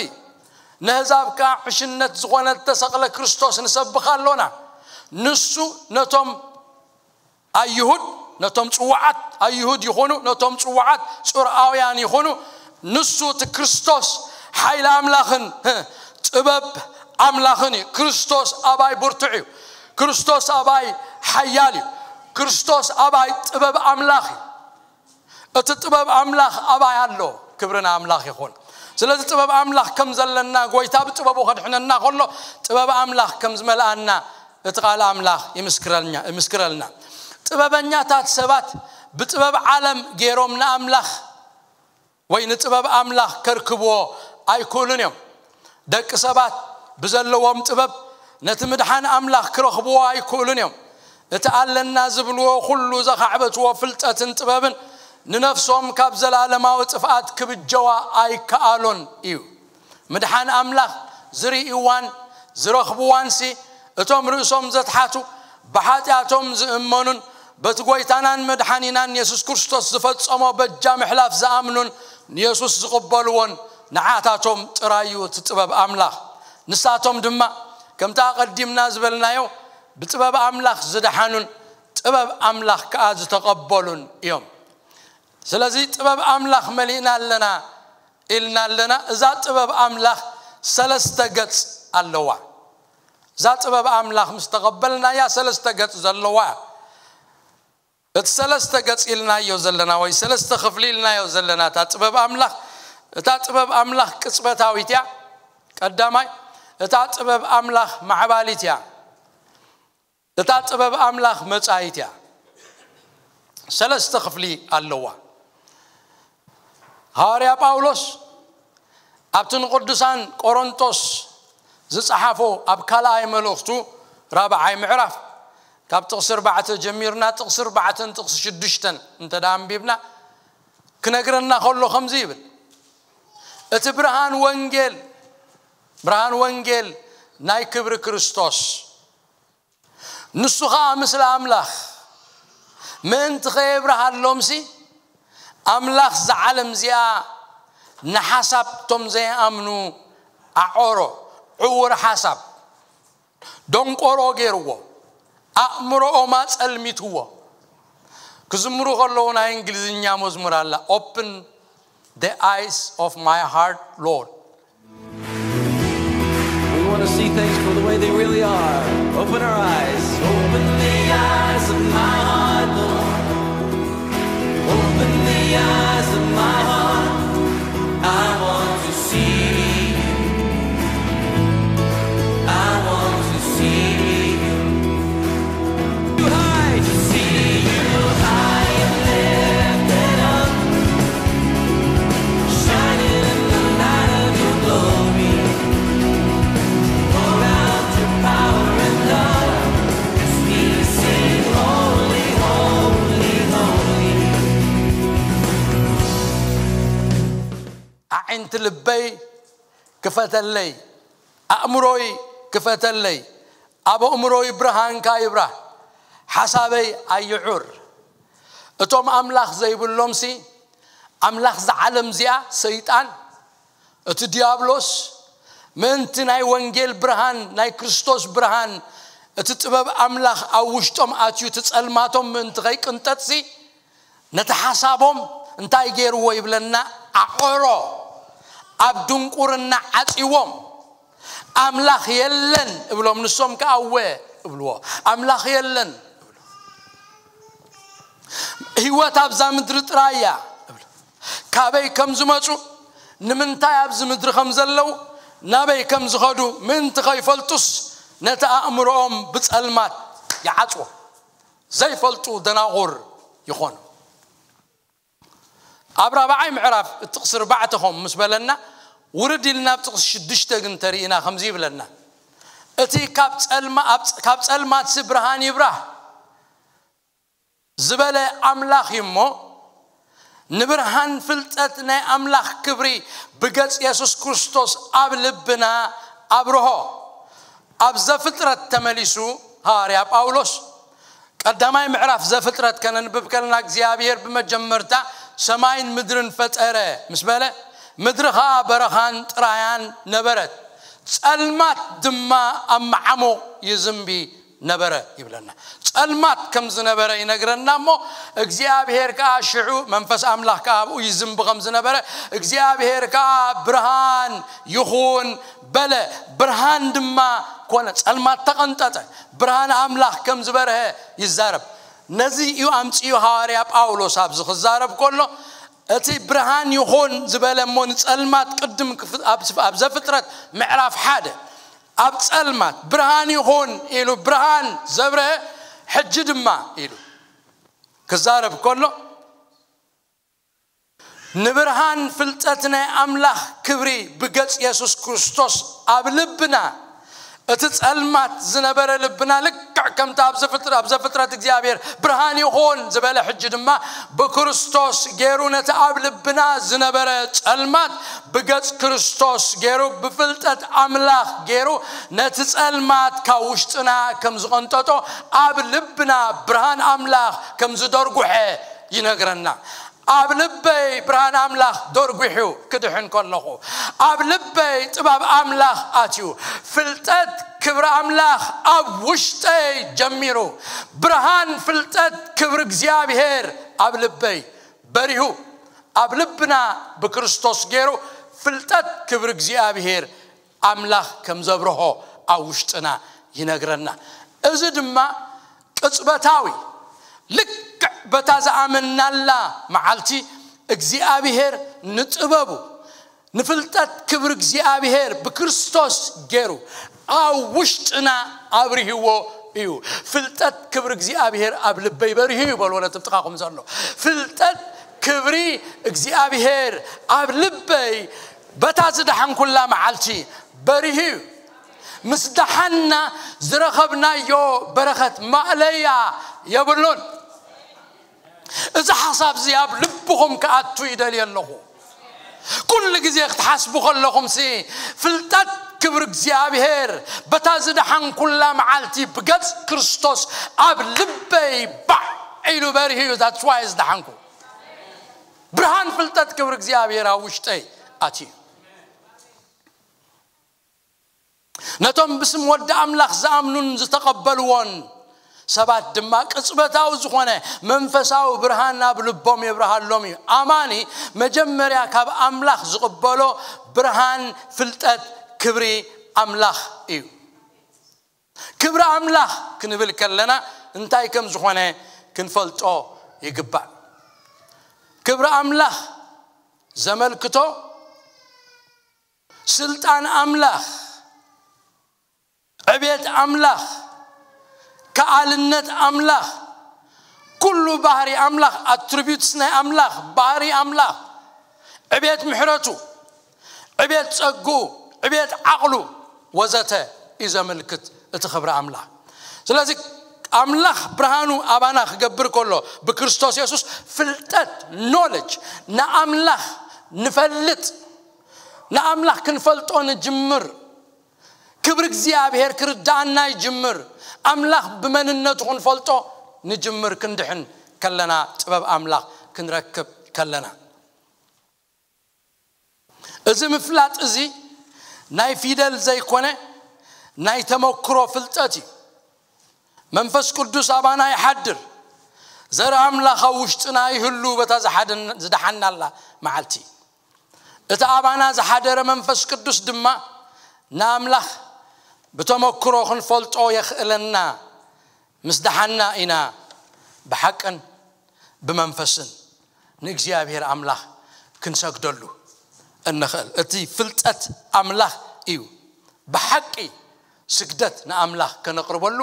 ነህዛብ ከኣ ዕሽነት ዝኾነ እተሰቕለ ክርስቶስ ንሰብኽ ኣሎና። ንሱ ነቶም ኣይሁድ፣ ነቶም ጽዋዓት ኣይሁድ ይኹኑ፣ ነቶም ጽዋዓት ጽርኣውያን ይኹኑ፣ ንሱ እቲ ክርስቶስ ሓይሊ ኣምላኽን፣ ህ፣ ጥበብ ኣምላኽን እዩ። ክርስቶስ ኣባይ ብርቱዕ እዩ። ክርስቶስ ኣባይ ሓያል እዩ። ክርስቶስ ኣባይ ጥበብ ኣምላኽ እዩ። እቲ ጥበብ ኣምላኽ ኣባይ ኣሎ። ክብሪ ንኣምላኽ ይኹን። ስለዚ ጥበብ ኣምላኽ ከም ዘለና፣ ጎይታ ብጥበቡ ከድሕነና ከሎ፣ ጥበብ ኣምላኽ ከም ዝመልኣና እቲ ቃል ኣምላኽ ይምስክረልና፣ ይምስክረልና። ጥበበኛታት ሰባት ብጥበብ ዓለም ገይሮም ንኣምላኽ ወይ ንጥበብ ኣምላኽ ከርክብዎ ኣይክእሉን እዮም። ደቂ ሰባት ብዘለዎም ጥበብ ነቲ ምድሓን ኣምላኽ ክረኽብዎ ኣይክእሉን እዮም። እቲ ኣለና ዝብልዎ ኩሉ ዘኻዕበትዎ ፍልጠትን ጥበብን ንነፍሶም ካብ ዘላለማዊ ጥፍኣት ክብጀዋ ኣይከኣሉን እዩ። ምድሓን ኣምላኽ ዝርእይዋን ዝረኽብዋንሲ እቶም ርእሶም ዘትሓቱ ብሓጢኣቶም ዝእመኑን በቲ ጎይታናን መድሓኒናን የሱስ ክርስቶስ ዝፈጸሞ በጃ ምሕላፍ ዝኣምኑን ንየሱስ ዝቕበልዎን ንዓታቶም ጥራይ እዩ እቲ ጥበብ ኣምላኽ። ንሳቶም ድማ ከምቲ ኣቐዲምና ዝበልናዮ ብጥበብ ኣምላኽ ዝደሓኑን ጥበብ ኣምላኽ ከኣ ዝተቐበሉን እዮም። ስለዚ ጥበብ ኣምላኽ መሊእና ኣለና ኢልና ኣለና። እዛ ጥበብ ኣምላኽ ሰለስተ ገጽ ኣለዋ። እዛ ጥበብ ኣምላኽ ምስ ተቐበልናያ ሰለስተ ገጽ ዘለዋ። እቲ ሰለስተ ገጽ ኢልናዮ ዘለና ወይ ሰለስተ ክፍሊ ኢልናዮ ዘለና እታ ጥበብ ኣምላኽ፣ እታ ጥበብ ኣምላኽ ቅጽበታዊት እያ። ቀዳማይ፣ እታ ጥበብ ኣምላኽ ማዕባሊት እያ። እታ ጥበብ ኣምላኽ መጻኢት እያ። ሰለስተ ክፍሊ ኣለዋ። ሃዋርያ ጳውሎስ ኣብቲ ንቅዱሳን ቆሮንቶስ ዝጸሓፎ ኣብ ካልኣይ መልእኽቱ ራብዓይ ምዕራፍ ካብ ጥቕሲ ኣርባዕተ ጀሚርና ጥቕሲ ኣርባዕተን ጥቕሲ ሽዱሽተን እንተ ደኣ ኣንቢብና ክነግረና ከሎ ከምዚ ይብል፣ እቲ ብርሃን ወንጌል፣ ብርሃን ወንጌል ናይ ክብሪ ክርስቶስ፣ ንሱ ኸኣ ምስለ ኣምላኽ ምእንቲ ኸየብርሃሎምሲ፣ ኣምላኽ እዛ ዓለም እዚኣ ንሓሳብ እቶም ዘይኣምኑ ኣዖሮ፣ ዕውር ሓሳብ፣ ደንቆሮ ገይርዎ፣ ኣእምሮኦም ኣጸልሚትዎ። ክዝምሩ ከለዉ ናይ እንግሊዝኛ መዝሙር ኣላ፣ Open the eyes of my heart, Lord. We want to see things for the way they really are. Open our eyes. Open the eyes of my heart, Lord. Open the eyes of my heart. I want to see you. I want to see you. Too high to see you high and lifted up, shining in the light of your glory. Pour out your power and love as we sing, "Holy, holy, holy." ኣዒንቲ ልበይ ክፈተለይ፣ ኣእምሮይ ክፈተለይ፣ ኣብ ኣእምሮይ ብርሃንካ ይብራህ፣ ሓሳበይ ኣይዑር። እቶም ኣምላኽ ዘይብሎምሲ፣ ኣምላኽ እዛ ዓለም እዚኣ ሰይጣን፣ እቲ ዲያብሎስ፣ ምእንቲ ናይ ወንጌል ብርሃን፣ ናይ ክርስቶስ ብርሃን፣ እቲ ጥበብ ኣምላኽ ኣብ ውሽጦም ኣትዩ፣ እቲ ጸልማቶም ምእንቲ ከይቅንጠጥሲ፣ ነቲ ሓሳቦም እንታይ ገይርዎ ይብለና? ኣዖሮ፣ ኣብ ድንቁርና ዓጺዎም። ኣምላኽ የለን እብሎም፣ ንሶም ከኣ እወ እብልዎ። ኣምላኽ የለን እብሉ። ህይወት ኣብዛ ምድሪ ጥራይ እያ እብሉ። ካበይ ከም ዝመጹ፣ ንምንታይ ኣብዚ ምድሪ ከም ዘለዉ፣ ናበይ ከም ዝኸዱ ምእንቲ ከይፈልጡስ፣ ነቲ ኣእምሮኦም ብጸልማት ይዓጽዎ። ዘይፈልጡ ደናቑር ይኾኑ። ኣብ ራብዓይ ምዕራፍ ጥቕሲ ኣርባዕተ ኸም ምስ በለና፣ ውርድ ኢልና ኣብ ጥቕሲ ሽዱሽተ ግን ተሪእና ከምዚ ይብለና፣ እቲ ካብ ጸልማ-፣ ኣብ ጸ-፣ ካብ ጸልማትሲ ብርሃን ይብራህ ዝበለ ኣምላኽ እዩ እሞ፣ ንብርሃን ፍልጠት ናይ ኣምላኽ ክብሪ ብገጽ የሱስ ክርስቶስ ኣብ ልብና ኣብርሆ። ኣብ ዘፍጥረት ተመሊሱ ሃዋርያ ጳውሎስ፣ ቀዳማይ ምዕራፍ ዘፍጥረት ከነንብብ ከለና፣ እግዚኣብሔር ብመጀመርታ ሰማይን ምድርን ፈጠረ ምስ በለ፣ ምድሪ ኸኣ በረኻን ጥራያን ነበረት፣ ጸልማት ድማ ኣብ መዓሙቕ ይዝንቢ ነበረ ይብለና። ጸልማት ከም ዝነበረ ይነግረና እሞ፣ እግዚኣብሔር ከኣ ሽዑ መንፈስ ኣምላኽ ከኣ ኣብኡ ይዝንቢ ከም ዝነበረ፣ እግዚኣብሔር ከኣ ብርሃን ይኹን በለ። ብርሃን ድማ ኮነ፣ ጸልማት ተቐንጠጠ። ብርሃን ኣምላኽ ከም ዝበርሀ ይዛረብ። ነዚ እዩ ኣምጺኡ ሃዋርያ ጳውሎስ ኣብዚ ክዛረብ ከሎ፣ እቲ ብርሃን ይኹን ዝበለ እሞ ንጸልማት ቅድም ክፍ-፣ ኣብ፣ ኣብ ዘፍጥረት ምዕራፍ ሓደ ኣብ ጸልማት ብርሃን ይኹን ኢሉ ብርሃን ዘብርሀ፣ ሕጂ ድማ ኢሉ ክዛረብ ከሎ፣ ንብርሃን ፍልጠት ናይ ኣምላኽ ክብሪ ብገጽ የሱስ ክርስቶስ ኣብ ልብና፣ እቲ ጸልማት ዝነበረ ልብና ልክዕ ከምቲ ኣብ ዘፍጥረ-፣ ኣብ ዘፍጥረት እግዚኣብሔር ብርሃን ይኹን ዝበለ፣ ሕጂ ድማ ብክርስቶስ ገይሩ ነቲ ኣብ ልብና ዝነበረ ጸልማት ብገጽ ክርስቶስ ገይሩ ብፍልጠት ኣምላኽ ገይሩ ነቲ ጸልማት ካብ ውሽጥና ከም ዝቐንጠጦ ኣብ ልብና ብርሃን ኣምላኽ ከም ዝደርጉሐ ይነግረና። ኣብ ልበይ ብርሃን ኣምላኽ ደርጒሑ ክድሕን ከለኹ፣ ኣብ ልበይ ጥበብ ኣምላኽ ኣትዩ፣ ፍልጠት ክብሪ ኣምላኽ ኣብ ውሽጠይ ጀሚሩ፣ ብርሃን ፍልጠት ክብሪ እግዚኣብሔር ኣብ ልበይ በሪሁ፣ ኣብ ልብና ብክርስቶስ ገይሩ ፍልጠት ክብሪ እግዚኣብሔር ኣምላኽ ከም ዘብርሆ ኣብ ውሽጥና ይነግረና። እዚ ድማ ቅጽበታዊ፣ ልክዕ በታ ዝኣመናላ መዓልቲ እግዚኣብሔር ንጥበቡ፣ ንፍልጠት ክብሪ እግዚኣብሔር ብክርስቶስ ገይሩ ኣብ ውሽጥና ኣብርህዎ እዩ። ፍልጠት ክብሪ እግዚኣብሔር ኣብ ልበይ በርሂ እዩ በልዎ ነቲ ጥቓኹም ዘሎ። ፍልጠት ክብሪ እግዚኣብሔር ኣብ ልበይ በታ ዝደሓንኩላ መዓልቲ በርሂ እዩ። ምስ ደሓንና ዝረኸብናዮ በረኸት ማእለያ የብሉን። እዚ ሓሳብ እዚ ኣብ ልብኹም ክኣቱ ይደልየ ኣለኹ። ኩሉ ግዜ ክትሓስቡ ከለኹም ሲ ፍልጠት ክብሪ እግዚኣብሔር በታ ዝደሓንኩላ መዓልቲ ብገጽ ክርስቶስ ኣብ ልበይ ባዕ ኢሉ በርሂ እዩ። That's why ዝደሓንኩ። ብርሃን ፍልጠት ክብሪ እግዚኣብሔር ኣብ ውሽጠይ ኣትዩ። ነቶም ብስም ወዲ ኣምላኽ ዝኣምኑን ዝተቐበልዎን ሰባት ድማ ቅጽበታዊ ዝኾነ መንፈሳዊ ብርሃን ናብ ልቦም የብርሃሎም እዩ። ኣማኒ መጀመርያ ካብ ኣምላኽ ዝቕበሎ ብርሃን ፍልጠት ክብሪ ኣምላኽ እዩ። ክብሪ ኣምላኽ ክንብል ከለና እንታይ ከም ዝኾነ ክንፈልጦ ይግባእ። ክብሪ ኣምላኽ ዘመልክቶ ስልጣን ኣምላኽ፣ ዕቤት ኣምላኽ፣ ከኣልነት ኣምላኽ፣ ኩሉ ባህሪ ኣምላኽ፣ ኣትሪቢዩትስ ናይ ኣምላኽ፣ ባህሪ ኣምላኽ፣ ዕቤት ምሕረቱ፣ ዕቤት ጸግኡ፣ ዕቤት ዓቕሉ ወዘተ እዩ ዘመልክት እቲ ክብሪ ኣምላኽ። ስለዚ ኣምላኽ ብርሃኑ ኣባና ክገብር ከሎ ብክርስቶስ የሱስ ፍልጠት፣ ኖለጅ፣ ንኣምላኽ ንፈልጥ፣ ንኣምላኽ ክንፈልጦ ንጅምር። ክብሪ እግዚኣብሔር ክርዳኣና ይጅምር። ኣምላኽ ብመንነቱ ክንፈልጦ ንጅምር፣ ክንድሕን ከለና፣ ጥበብ ኣምላኽ ክንረክብ ከለና። እዚ ምፍላጥ እዚ ናይ ፊደል ዘይኮነ ናይ ተመክሮ ፍልጠት እዩ። መንፈስ ቅዱስ ኣባና ይሓድር። ዘር ኣምላኽ ኣብ ውሽጥና ይህሉ በታ ዝሓደን- ዝደሓናላ መዓልቲ። እቲ ኣባና ዝሓደረ መንፈስ ቅዱስ ድማ ንኣምላኽ ብተመክሮ ክንፈልጦ የኽእለና። ምስ ደሓና ኢና ብሓቅን ብመንፈስን ንእግዚኣብሔር ኣምላኽ ክንሰግደሉ እንኽእል። እቲ ፍልጠት ኣምላኽ እዩ ብሓቂ ስግደት ንኣምላኽ ከነቕርበሉ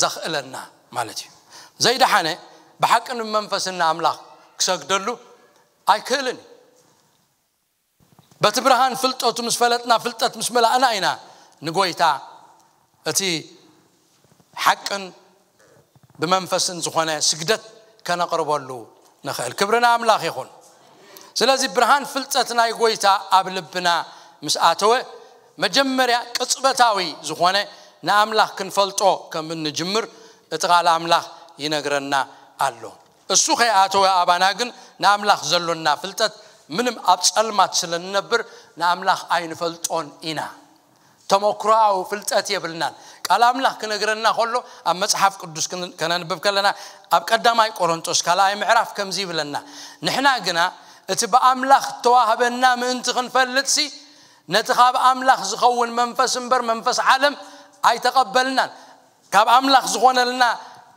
ዘኽእለና ማለት እዩ። ዘይደሓነ ብሓቅን ብመንፈስን ንኣምላኽ ክሰግደሉ ኣይክእልን እዩ። በቲ ብርሃን ፍልጠቱ ምስ ፈለጥና፣ ፍልጠት ምስ መላእና ኢና ንጎይታ እቲ ሓቅን ብመንፈስን ዝኾነ ስግደት ከነቕርበሉ ንኽእል። ክብሪ ንኣምላኽ ይኹን። ስለዚ ብርሃን ፍልጠት ናይ ጎይታ ኣብ ልብና ምስ ኣተወ፣ መጀመርያ ቅጽበታዊ ዝኾነ ንኣምላኽ ክንፈልጦ ከም እንጅምር እቲ ቃል ኣምላኽ ይነግረና ኣሎ። እሱ ከይኣተወ ኣባና ግን ንኣምላኽ ዘሎና ፍልጠት ምንም ኣብ ጸልማት ስለ ንነብር ንኣምላኽ ኣይንፈልጦን ኢና። ተመክሮኣዊ ፍልጠት የብልናን። ቃል ኣምላኽ ክነግረና ከሎ ኣብ መጽሓፍ ቅዱስ ክን- ከነንብብ ከለና ኣብ ቀዳማይ ቆሮንጦስ ካልኣይ ምዕራፍ ከምዚ ይብለና፣ ንሕና ግና እቲ ብኣምላኽ እተዋህበና ምእንቲ ክንፈልጥሲ ነቲ ካብ ኣምላኽ ዝኸውን መንፈስ እምበር መንፈስ ዓለም ኣይተቐበልናን። ካብ ኣምላኽ ዝኾነልና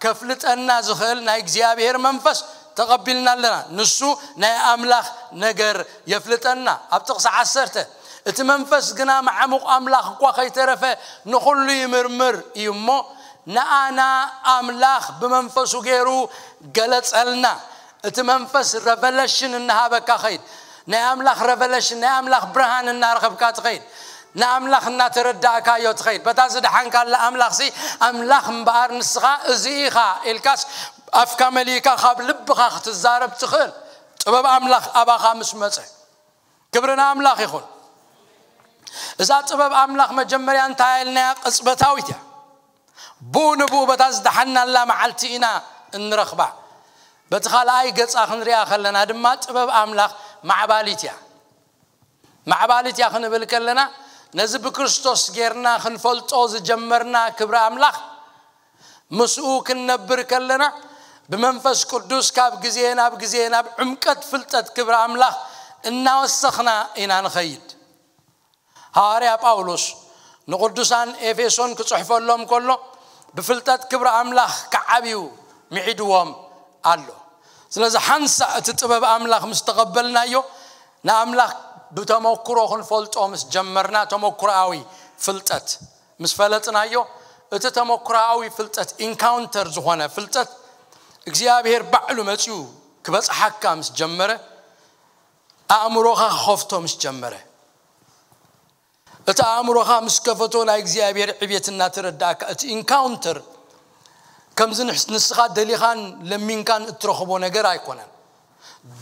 ከፍልጠና ዝኽእል ናይ እግዚኣብሔር መንፈስ ተቐቢልና ኣለና። ንሱ ናይ ኣምላኽ ነገር የፍልጠና። ኣብ ጥቕሲ ዓሰርተ፣ እቲ መንፈስ ግና መዓሙቕ ኣምላኽ እኳ ከይተረፈ ንኹሉ ይምርምር እዩ እሞ፣ ንኣና ኣምላኽ ብመንፈሱ ገይሩ ገለጸልና። እቲ መንፈስ ረቨለሽን እናሃበካ ኸይድ። ናይ ኣምላኽ ረቨለሽን፣ ናይ ኣምላኽ ብርሃን እናረኸብካ ትኸይድ። ንኣምላኽ እናተረዳእካዮ ትኸይድ። በታ ዝደሓንካላ ኣምላኽሲ፣ ኣምላኽ እምበኣር ንስኻ እዚ ኢኻ ኢልካስ ኣፍካ መሊእካ ካብ ልብኻ ክትዛረብ ትኽእል። ጥበብ ኣምላኽ ኣባኻ ምስ መጸ። ክብሪ ንኣምላኽ ይኹን። እዛ ጥበብ ኣምላኽ መጀመርያ እንታይ ኢልናያ? ቅጽበታዊት እያ። ብኡ ንብኡ በታ ዝደሓናላ መዓልቲ ኢና እንረኽባ። በቲ ካልኣይ ገጻ ክንሪኣ ከለና ድማ ጥበብ ኣምላኽ ማዕባሊት እያ። ማዕባሊት እያ ክንብል ከለና ነዚ ብክርስቶስ ጌርና ክንፈልጦ ዝጀመርና ክብሪ ኣምላኽ ምስኡ ክንነብር ከለና ብመንፈስ ቅዱስ ካብ ግዜ ናብ ግዜ ናብ ዕምቀት ፍልጠት ክብሪ ኣምላኽ እናወሰኽና ኢና ንኸይድ። ሃዋርያ ጳውሎስ ንቕዱሳን ኤፌሶን ክጽሕፈሎም ከሎ ብፍልጠት ክብሪ ኣምላኽ ክዓብዩ ምዒድዎም ኣሎ። ስለዚ ሓንሳእ እቲ ጥበብ ኣምላኽ ምስ ተቐበልናዮ ንኣምላኽ ብተመክሮ ክንፈልጦ ምስ ጀመርና፣ ተመክሮኣዊ ፍልጠት ምስ ፈለጥናዮ፣ እቲ ተመክሮኣዊ ፍልጠት፣ ኢንካውንተር ዝኾነ ፍልጠት፣ እግዚኣብሔር ባዕሉ መጺኡ ክበጽሓካ ምስ ጀመረ፣ ኣእምሮኻ ክኸፍቶ ምስ ጀመረ፣ እቲ ኣእምሮኻ ምስ ከፈቶ፣ ናይ እግዚኣብሔር ዕቤት እናተረዳእካ፣ እቲ ኢንካውንተር ከምዚ ንሕስ-፣ ንስኻ ደሊኻን ለሚንካን እትረኽቦ ነገር ኣይኮነን።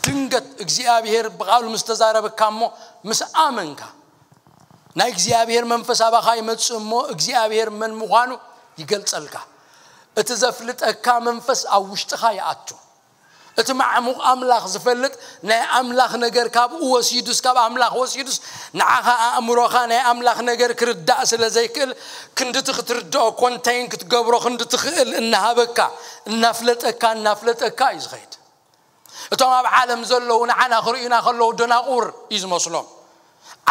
ድንገት እግዚኣብሔር ብቓሉ ምስ ተዛረበካ እሞ ምስ ኣመንካ፣ ናይ እግዚኣብሔር መንፈስ ኣባኻ ይመጽእ እሞ እግዚኣብሔር መን ምዃኑ ይገልጸልካ። እቲ ዘፍልጠካ መንፈስ ኣብ ውሽጥኻ ይኣቱ። እቲ ማዕሙቕ ኣምላኽ ዝፈልጥ፣ ናይ ኣምላኽ ነገር ካብኡ ወሲዱስ፣ ካብ ኣምላኽ ወሲዱስ፣ ንዓኻ ኣእምሮኻ ናይ ኣምላኽ ነገር ክርዳእ ስለ ዘይክእል፣ ክንድቲ ክትርድኦ፣ ኮንቴን ክትገብሮ ክንዲ ትኽእል እናሃበካ፣ እናፍለጠካ፣ እናፍለጠካ እዩ ዝኸይድ። እቶም ኣብ ዓለም ዘለዉ ንዓና ክርእዩና ከለዉ ደናቑር እዩ ዝመስሎም፣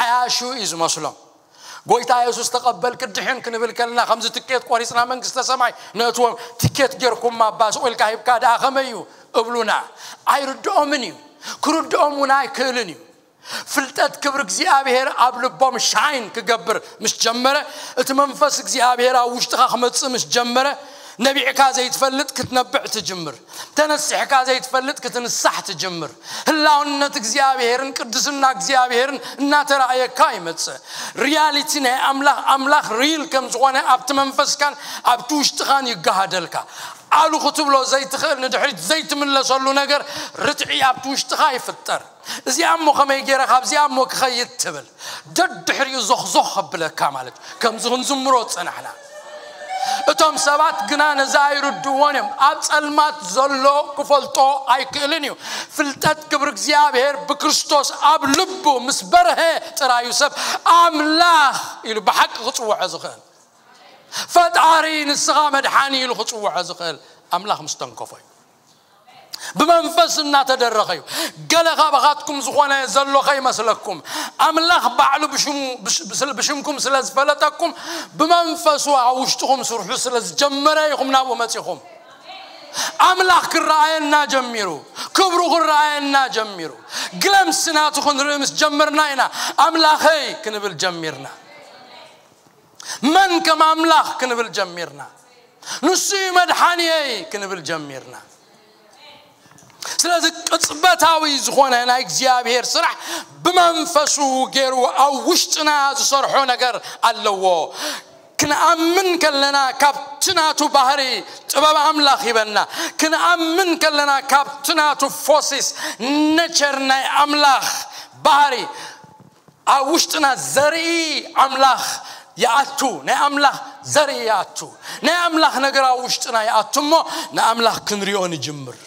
ዓያሹ እዩ ዝመስሎም። ጎይታ የሱስ ተቐበል ክድሕን ክንብል ከለና፣ ከምዚ ትኬት ቆሪጽና መንግስተ ሰማይ ነእትዎም፣ ትኬት ጌርኩም ኣባ ስቕ ኢልካ ሂብካ ደኣ ከመይ እዩ እብሉና። ኣይርድኦምን እዩ፣ ክርድኦም እውን ኣይክእልን እዩ። ፍልጠት ክብሪ እግዚኣብሔር ኣብ ልቦም ሻይን ክገብር ምስ ጀመረ፣ እቲ መንፈስ እግዚኣብሔር ኣብ ውሽጥኻ ክመጽእ ምስ ጀመረ፣ ነቢዕካ ዘይትፈልጥ ክትነብዕ ትጅምር። ተነሲሕካ ዘይትፈልጥ ክትንሳሕ ትጅምር። ህላውነት እግዚኣብሔርን ቅድስና እግዚኣብሔርን እናተራእየካ ይመጽእ። ሪያሊቲ ናይ ኣምላኽ፣ ኣምላኽ ሪል ከም ዝኾነ ኣብቲ መንፈስካን ኣብቲ ውሽጥኻን ይገሃደልካ። ኣሉ ክትብሎ ዘይትኽእል፣ ንድሕሪት ዘይትምለሰሉ ነገር ርትዒ ኣብቲ ውሽጥኻ ይፍጠር። እዚኣ እሞ ከመይ ገይረ ካብዚኣ እሞ ክኸይድ ትብል፣ ደድሕሪኡ ዞኽዞኽ ከብለካ ማለት እዩ። ከምዚ ክንዝምሮ ዝጸናሕና። እቶም ሰባት ግና ነዚ ኣይርድእዎን እዮም። ኣብ ጸልማት ዘሎ ክፈልጦ ኣይክእልን እዩ። ፍልጠት ክብሪ እግዚኣብሔር ብክርስቶስ ኣብ ልቡ ምስ በርሀ ጥራዩ ሰብ ኣምላኽ ኢሉ ብሓቂ ክጽውዖ ዝኽእል። ፈጣሪ፣ ንስኻ መድሓኒ ኢሉ ክጽውዖ ዝኽእል ኣምላኽ ምስ ተንከፎ እዩ። ብመንፈስ እናተደረኸ እዩ። ገለ ካባኻትኩም ዝኾነ ዘሎ ከይመስለኩም፣ ኣምላኽ ባዕሉ ብሽሙ፣ ብሽ-፣ ብስል-፣ ብሽምኩም ስለ ዝፈለጠኩም፣ ብመንፈሱ ኣብ ውሽጥኹም ስርሑ ስለ ዝጀመረ ኢኹም ናብኡ መጺኹም። ኣምላኽ ክረኣየና ጀሚሩ፣ ክብሩ ክረኣየና ጀሚሩ። ግለምስ ናቱ ክንርኢ ምስ ጀመርና ኢና ኣምላኸይ ክንብል ጀሚርና። መን ከም ኣምላኽ ክንብል ጀሚርና። ንሱ እዩ መድሓንየይ ክንብል ጀሚርና። ስለዚ ቅጽበታዊ ዝኾነ ናይ እግዚኣብሔር ስራሕ ብመንፈሱ ገይሩ ኣብ ውሽጥና ዝሰርሖ ነገር ኣለዎ። ክንኣምን ከለና ካብቲ ናቱ ባህሪ ጥበብ ኣምላኽ ሂበና። ክንኣምን ከለና ካብቲ ናቱ ፎሲስ ነቸር ናይ ኣምላኽ ባህሪ ኣብ ውሽጥና ዘርኢ ኣምላኽ ይኣቱ፣ ናይ ኣምላኽ ዘርኢ ይኣቱ፣ ናይ ኣምላኽ ነገር ኣብ ውሽጥና ይኣቱ እሞ ንኣምላኽ ክንሪኦ ንጅምር።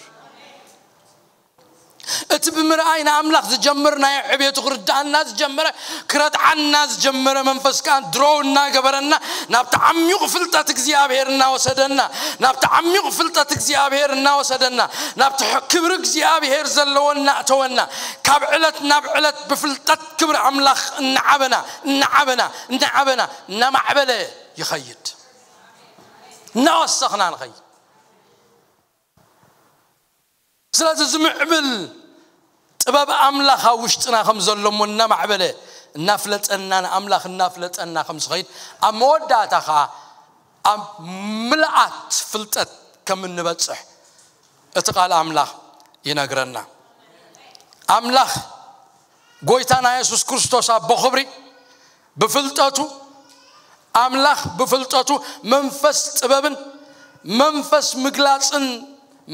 እቲ ብምርኣይ ንኣምላኽ ዝጀምር ናይ ዕቤቱ ክርድኣና ዝጀመረ፣ ክረትዓና ዝጀመረ መንፈስ ከኣ ድሮው እናገበረና ናብቲ ዓሚቕ ፍልጠት እግዚኣብሔር እናወሰደና፣ ናብቲ ዓሚቕ ፍልጠት እግዚኣብሔር እናወሰደና፣ ናብቲ ሕ-፣ ክብሪ እግዚኣብሔር ዘለዎ እናእተወና፣ ካብ ዕለት ናብ ዕለት ብፍልጠት ክብሪ ኣምላኽ እናዓበና፣ እናዓበና፣ እናዓበና፣ እናማዕበለ ይኸይድ። እናወሰኽና ንኸይድ። ስለዚ ዝምዕብል ጥበብ ኣምላኽ ኣብ ውሽጥና ከም ዘሎ እሞ እናማዕበለ፣ እናፍለጠና፣ ንኣምላኽ እናፍለጠና ከም ዝኸይድ፣ ኣብ መወዳእታ ኸኣ ኣብ ምልኣት ፍልጠት ከም እንበጽሕ እቲ ቃል ኣምላኽ ይነግረና። ኣምላኽ ጎይታና የሱስ ክርስቶስ ኣቦ ክብሪ ብፍልጠቱ፣ ኣምላኽ ብፍልጠቱ መንፈስ ጥበብን መንፈስ ምግላጽን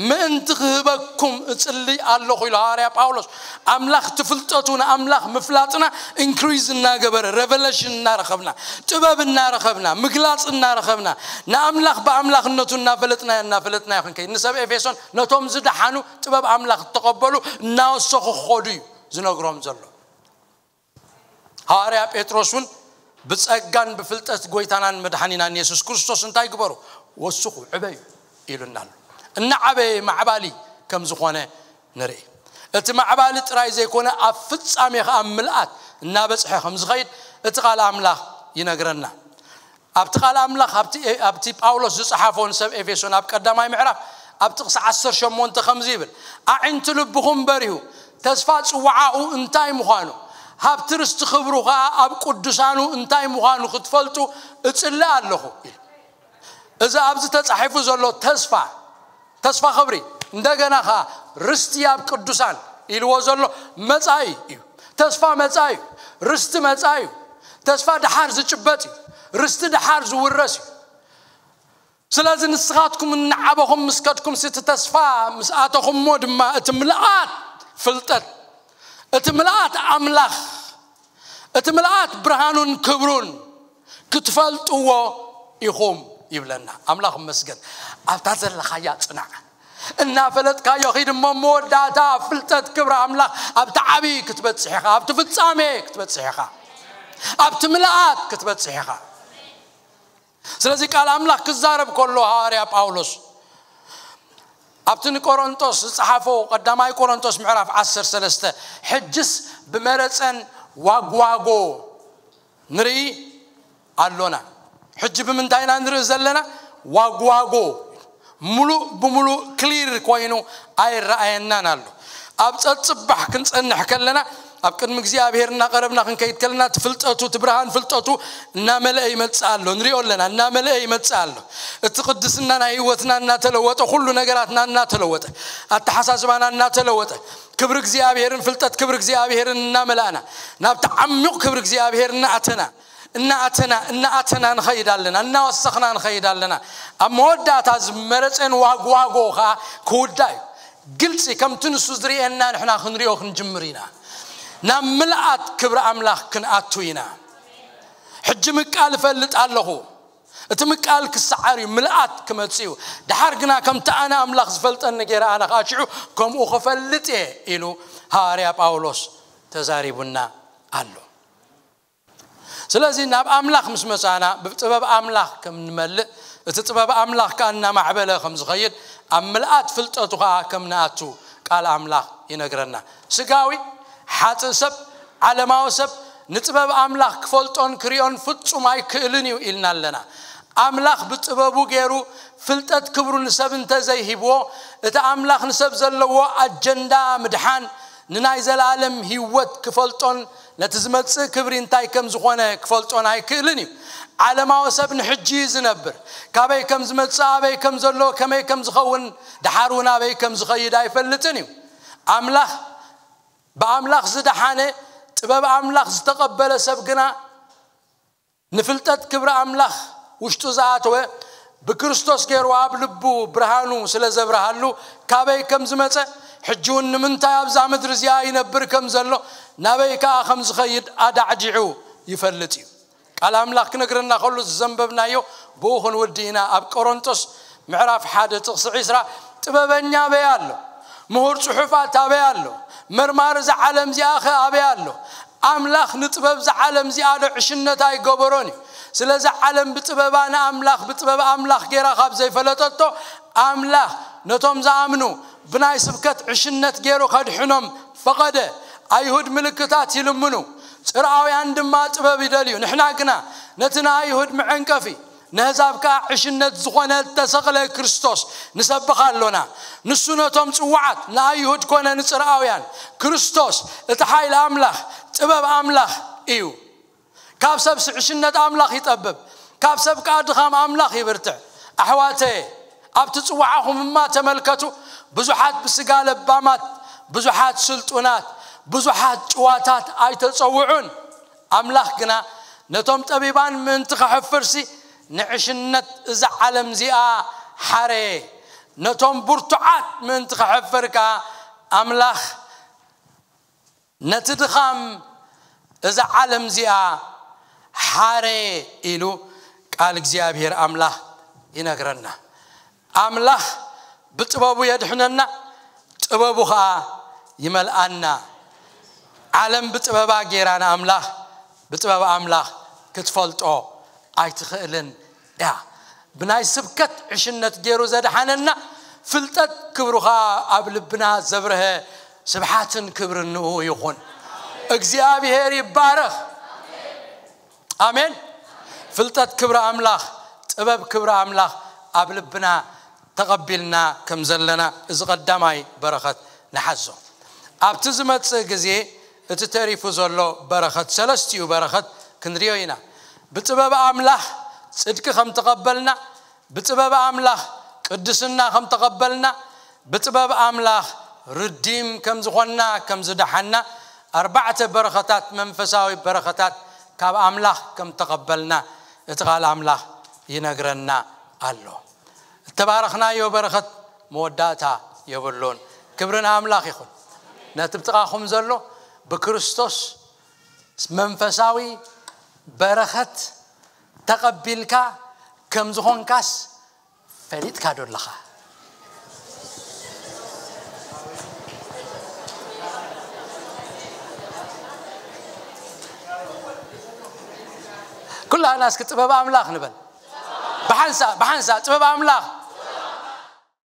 ምእንቲ ክህበኩም እጽሊ ኣለኹ ኢሉ ሃዋርያ ጳውሎስ። ኣምላኽ ትፍልጠቱ ንኣምላኽ ምፍላጥና ኢንክሪዝ እናገበረ፣ ሬቨሌሽን እናረኸብና፣ ጥበብ እናረኸብና፣ ምግላጽ እናረኸብና፣ ንኣምላኽ ብኣምላኽነቱ እናፈለጥናዮ እናፈለጥናዮ ክንከይድ፣ ንሰብ ኤፌሶን ነቶም ዝደሓኑ ጥበብ ኣምላኽ እተቐበሉ እናወሰኹ ክኸዱ እዩ ዝነግሮም ዘሎ። ሃዋርያ ጴጥሮስ እውን ብጸጋን ብፍልጠት ጎይታናን መድሓኒናን የሱስ ክርስቶስ እንታይ ግበሩ? ወስኹ፣ ዕበዩ ኢሉና ኣሎ። እናዓበየ ማዕባሊ ከም ዝኾነ ንርኢ። እቲ ማዕባሊ ጥራይ ዘይኮነ፣ ኣብ ፍጻሜ ኸኣ ምልኣት እናበጽሐ ከም ዝኸይድ እቲ ቃል ኣምላኽ ይነግረና። ኣብቲ ቃል ኣምላኽ፣ ኣብቲ፣ ኣብቲ ጳውሎስ ዝጸሓፎ ንሰብ ኤፌሶን ኣብ ቀዳማይ ምዕራፍ፣ ኣብ ጥቕሲ ዓሰርተ ሸሞንተ ከምዚ ይብል፣ "ኣዒንቲ ልብኹም በሪሁ፣ ተስፋ ጽዋዓኡ እንታይ ምዃኑ፣ ሃብቲ ርስቲ ክብሩ ኸዓ ኣብ ቅዱሳኑ እንታይ ምዃኑ ክትፈልጡ እጽሊ ኣለኹ ኢሉ። እዚ ኣብዚ ተጻሒፉ ዘሎ ተስፋ፣ ተስፋ ክብሪ፣ እንደገና ኸዓ ርስቲ ኣብ ቅዱሳን ኢልዎ ዘሎ መጻኢ እዩ። ተስፋ መጻኢ እዩ። ርስቲ መጻኢ እዩ። ተስፋ ደሓር ዝጭበጥ እዩ። ርስቲ ደሓር ዝውረስ እዩ። ስለዚ ንስኻትኩም እናዓበኹም ምስ ከድኩም፣ እቲ ተስፋ ምስ ኣተኹሞ ድማ፣ እቲ ምልኣት ፍልጠት፣ እቲ ምልኣት ኣምላኽ፣ እቲ ምልኣት ብርሃኑን ክብሩን ክትፈልጥዎ ኢኹም ይብለና። ኣምላኽ ይመስገን። ኣብታ ዘለኻያ ጽናዕ። እናፈለጥካዮ ኺድ እሞ፣ መወዳእታ ኣብ ፍልጠት ክብሪ ኣምላኽ ኣብቲ ዓብዪ ክትበጽሕ ኢኻ፣ ኣብቲ ፍጻሜ ክትበጽሕ ኢኻ፣ ኣብቲ ምልኣት ክትበጽሕ ኢኻ። ስለዚ ቃል ኣምላኽ ክዛረብ ከሎ፣ ሃዋርያ ጳውሎስ ኣብቲ ንቆሮንቶስ ዝጸሓፎ፣ ቀዳማይ ቆሮንቶስ ምዕራፍ ዓሰርተ ሰለስተ፣ ሕጅስ ብመረጸን ዋግዋጎ ንርኢ ኣሎና። ሕጂ ብምንታይ ኢና ንርኢ ዘለና? ዋግዋጎ። ሙሉእ ብሙሉእ ክሊር ኮይኑ ኣይረኣየናን ኣሎ። ኣብ ጸጽባሕ ክንጸንሕ ከለና፣ ኣብ ቅድሚ እግዚኣብሔር እናቐረብና ክንከይድ ከለና፣ እቲ ፍልጠቱ፣ እቲ ብርሃን ፍልጠቱ እናመልአ ይመጽእ ኣሎ። ንሪኦ ኣለና፣ እናመልአ ይመጽእ ኣሎ። እቲ ቅድስና ናይ ህይወትና እናተለወጠ፣ ኩሉ ነገራትና እናተለወጠ፣ ኣተሓሳስባና እናተለወጠ፣ ክብሪ እግዚኣብሔርን ፍልጠት ክብሪ እግዚኣብሔርን እናመላእና፣ ናብቲ ዓሚቕ ክብሪ እግዚኣብሔር እናኣተና፣ እናኣተና፣ እናኣተና ንኸይድ ኣለና፣ እናወሰኽና ንኸይድ ኣለና። ኣብ መወዳእታ ዝመረጸን ዋግዋጎ ኸዓ ክውዳእ እዩ። ግልጺ ከምቲ ንሱ ዝርእየና ንሕና ክንሪኦ ክንጅምር ኢና። ናብ ምልኣት ክብሪ ኣምላኽ ክንኣቱ ኢና። ሕጂ ምቃል እፈልጥ ኣለኹ። እቲ ምቃል ክሰዓር እዩ፣ ምልኣት ክመጽእ እዩ። ደሓር ግና ከምቲ ኣነ ኣምላኽ ዝፈልጠኒ ገይረ ኣነ ኸዓ ሽዑ ከምኡ ክፈልጥ እየ ኢሉ ሃዋርያ ጳውሎስ ተዛሪቡና ኣሎ። ስለዚ ናብ ኣምላኽ ምስ መጻና ብጥበብ ኣምላኽ ከም ንመልእ፣ እቲ ጥበብ ኣምላኽ ከኣ እናማዕበለ ከም ዝኸይድ፣ ኣብ ምልኣት ፍልጠቱ ከኣ ከም ንኣቱ ቃል ኣምላኽ ይነግረና። ስጋዊ ሓጥእ ሰብ፣ ዓለማዊ ሰብ ንጥበብ ኣምላኽ ክፈልጦን ክሪኦን ፍጹም ኣይክእልን እዩ ኢልና ኣለና። ኣምላኽ ብጥበቡ ገይሩ ፍልጠት ክብሩ ንሰብ እንተ ዘይሂብዎ፣ እቲ ኣምላኽ ንሰብ ዘለዎ ኣጀንዳ ምድሓን፣ ንናይ ዘላለም ህይወት ክፈልጦን ነቲ ዝመጽእ ክብሪ እንታይ ከም ዝኾነ ክፈልጦን ኣይክእልን እዩ። ዓለማዊ ሰብ ንሕጂ እዩ ዝነብር። ካበይ ከም ዝመጽእ፣ ኣበይ ከም ዘሎ፣ ከመይ ከም ዝኸውን፣ ደሓር እውን ኣበይ ከም ዝኸይድ ኣይፈልጥን እዩ። ኣምላኽ፣ ብኣምላኽ ዝደሓነ፣ ጥበብ ኣምላኽ ዝተቐበለ ሰብ ግና ንፍልጠት ክብሪ ኣምላኽ ውሽጡ ዝኣተወ፣ ብክርስቶስ ገይሩ ኣብ ልቡ ብርሃኑ ስለ ዘብርሃሉ፣ ካበይ ከም ዝመጸ፣ ሕጂ እውን ንምንታይ ኣብዛ ምድሪ እዚኣ ይነብር ከም ዘሎ፣ ናበይ ከኣ ከም ዝኸይድ ኣዳዕዲዑ ይፈልጥ እዩ። ቃል ኣምላኽ ክነግረና ከሎ፣ ዘንበብናዮ ብኡ ክንውዲ ኢና። ኣብ ቆሮንቶስ ምዕራፍ ሓደ ጥቕሲ ዕስራ፣ ጥበበኛ ኣበይ ኣሎ? ምሁር ጽሑፋት ኣበይ ኣሎ? መርማሪ እዛ ዓለም እዚኣ ኸ ኣበይ ኣሎ? ኣምላኽ ንጥበብ እዛ ዓለም እዚኣ ዶ ዕሽነት ኣይገበሮን እዩ? ስለዚ ዓለም ብጥበባ ንኣምላኽ፣ ብጥበብ ኣምላኽ ገይራ ካብ ዘይፈለጠቶ፣ ኣምላኽ ነቶም ዝኣምኑ ብናይ ስብከት ዕሽነት ገይሩ ከድሕኖም ፈቐደ። ኣይሁድ ምልክታት ይልምኑ፣ ጽርኣውያን ድማ ጥበብ ይደልዩ። ንሕና ግና ነቲ ንኣይሁድ መዐንቀፊ፣ ነህዛብ ከኣ ዕሽነት ዝኾነ እተሰቕለ ክርስቶስ ንሰብኽ ኣሎና። ንሱ ነቶም ጽዋዓት፣ ንኣይሁድ ኮነ ንጽርኣውያን፣ ክርስቶስ እቲ ሓይሊ ኣምላኽ፣ ጥበብ ኣምላኽ እዩ። ካብ ሰብ ዕሽነት ኣምላኽ ይጠብብ፣ ካብ ሰብ ከኣ ድኻም ኣምላኽ ይብርትዕ። ኣሕዋተየ፣ ኣብቲ ጽዋዓኹም እማ ተመልከቱ፣ ብዙሓት ብስጋ ለባማት፣ ብዙሓት ስልጡናት፣ ብዙሓት ጭዋታት ኣይተጸውዑን። ኣምላኽ ግና ነቶም ጠቢባን ምእንቲ ኸሐፍርሲ ንዕሽነት እዛ ዓለም እዚኣ ሓረየ። ነቶም ብርቱዓት ምእንቲ ኸሐፍር ከኣ ኣምላኽ ነቲ ድኻም እዛ ዓለም እዚኣ ሓረየ ኢሉ ቃል እግዚኣብሔር ኣምላኽ ይነግረና። ኣምላኽ ብጥበቡ የድሕነና፣ ጥበቡ ኸኣ ይመልኣና። ዓለም ብጥበባ ጌራ ንኣምላኽ፣ ብጥበብ ኣምላኽ ክትፈልጦ ኣይትኽእልን እያ። ብናይ ስብከት ዕሽነት ገይሩ ዘድሓነና፣ ፍልጠት ክብሩ ኸኣ ኣብ ልብና ዘብርሀ፣ ስብሓትን ክብርን ንኡ ይኹን። እግዚኣብሔር ይባረኽ። ኣሜን። ፍልጠት ክብሪ ኣምላኽ፣ ጥበብ ክብሪ ኣምላኽ ኣብ ልብና ተቐቢልና ከም ዘለና፣ እዚ ቀዳማይ በረኸት ንሓዞ። ኣብቲ ዝመጽእ ግዜ እቲ ተሪፉ ዘሎ በረኸት፣ ሰለስቲኡ በረኸት ክንሪኦ ኢና። ብጥበብ ኣምላኽ ጽድቂ ከም ተቐበልና፣ ብጥበብ ኣምላኽ ቅድስና ከም ተቐበልና፣ ብጥበብ ኣምላኽ ርዲም ከም ዝኾንና፣ ከም ዝደሓና፣ ኣርባዕተ በረኸታት፣ መንፈሳዊ በረኸታት ካብ ኣምላኽ ከም ተቐበልና እቲ ቃል ኣምላኽ ይነግረና ኣሎ። እተባረኽናዮ በረኸት መወዳእታ የብሉን። ክብሪ ንኣምላኽ ይኹን። ነቲ ብጥቓኹም ዘሎ ብክርስቶስ መንፈሳዊ በረኸት ተቐቢልካ ከም ዝኾንካስ ፈሊጥካ ዶ ኣለኻ? ኩላና እስኪ ጥበብ ኣምላኽ ንበል። ብሓንሳእ፣ ብሓንሳእ ጥበብ ኣምላኽ።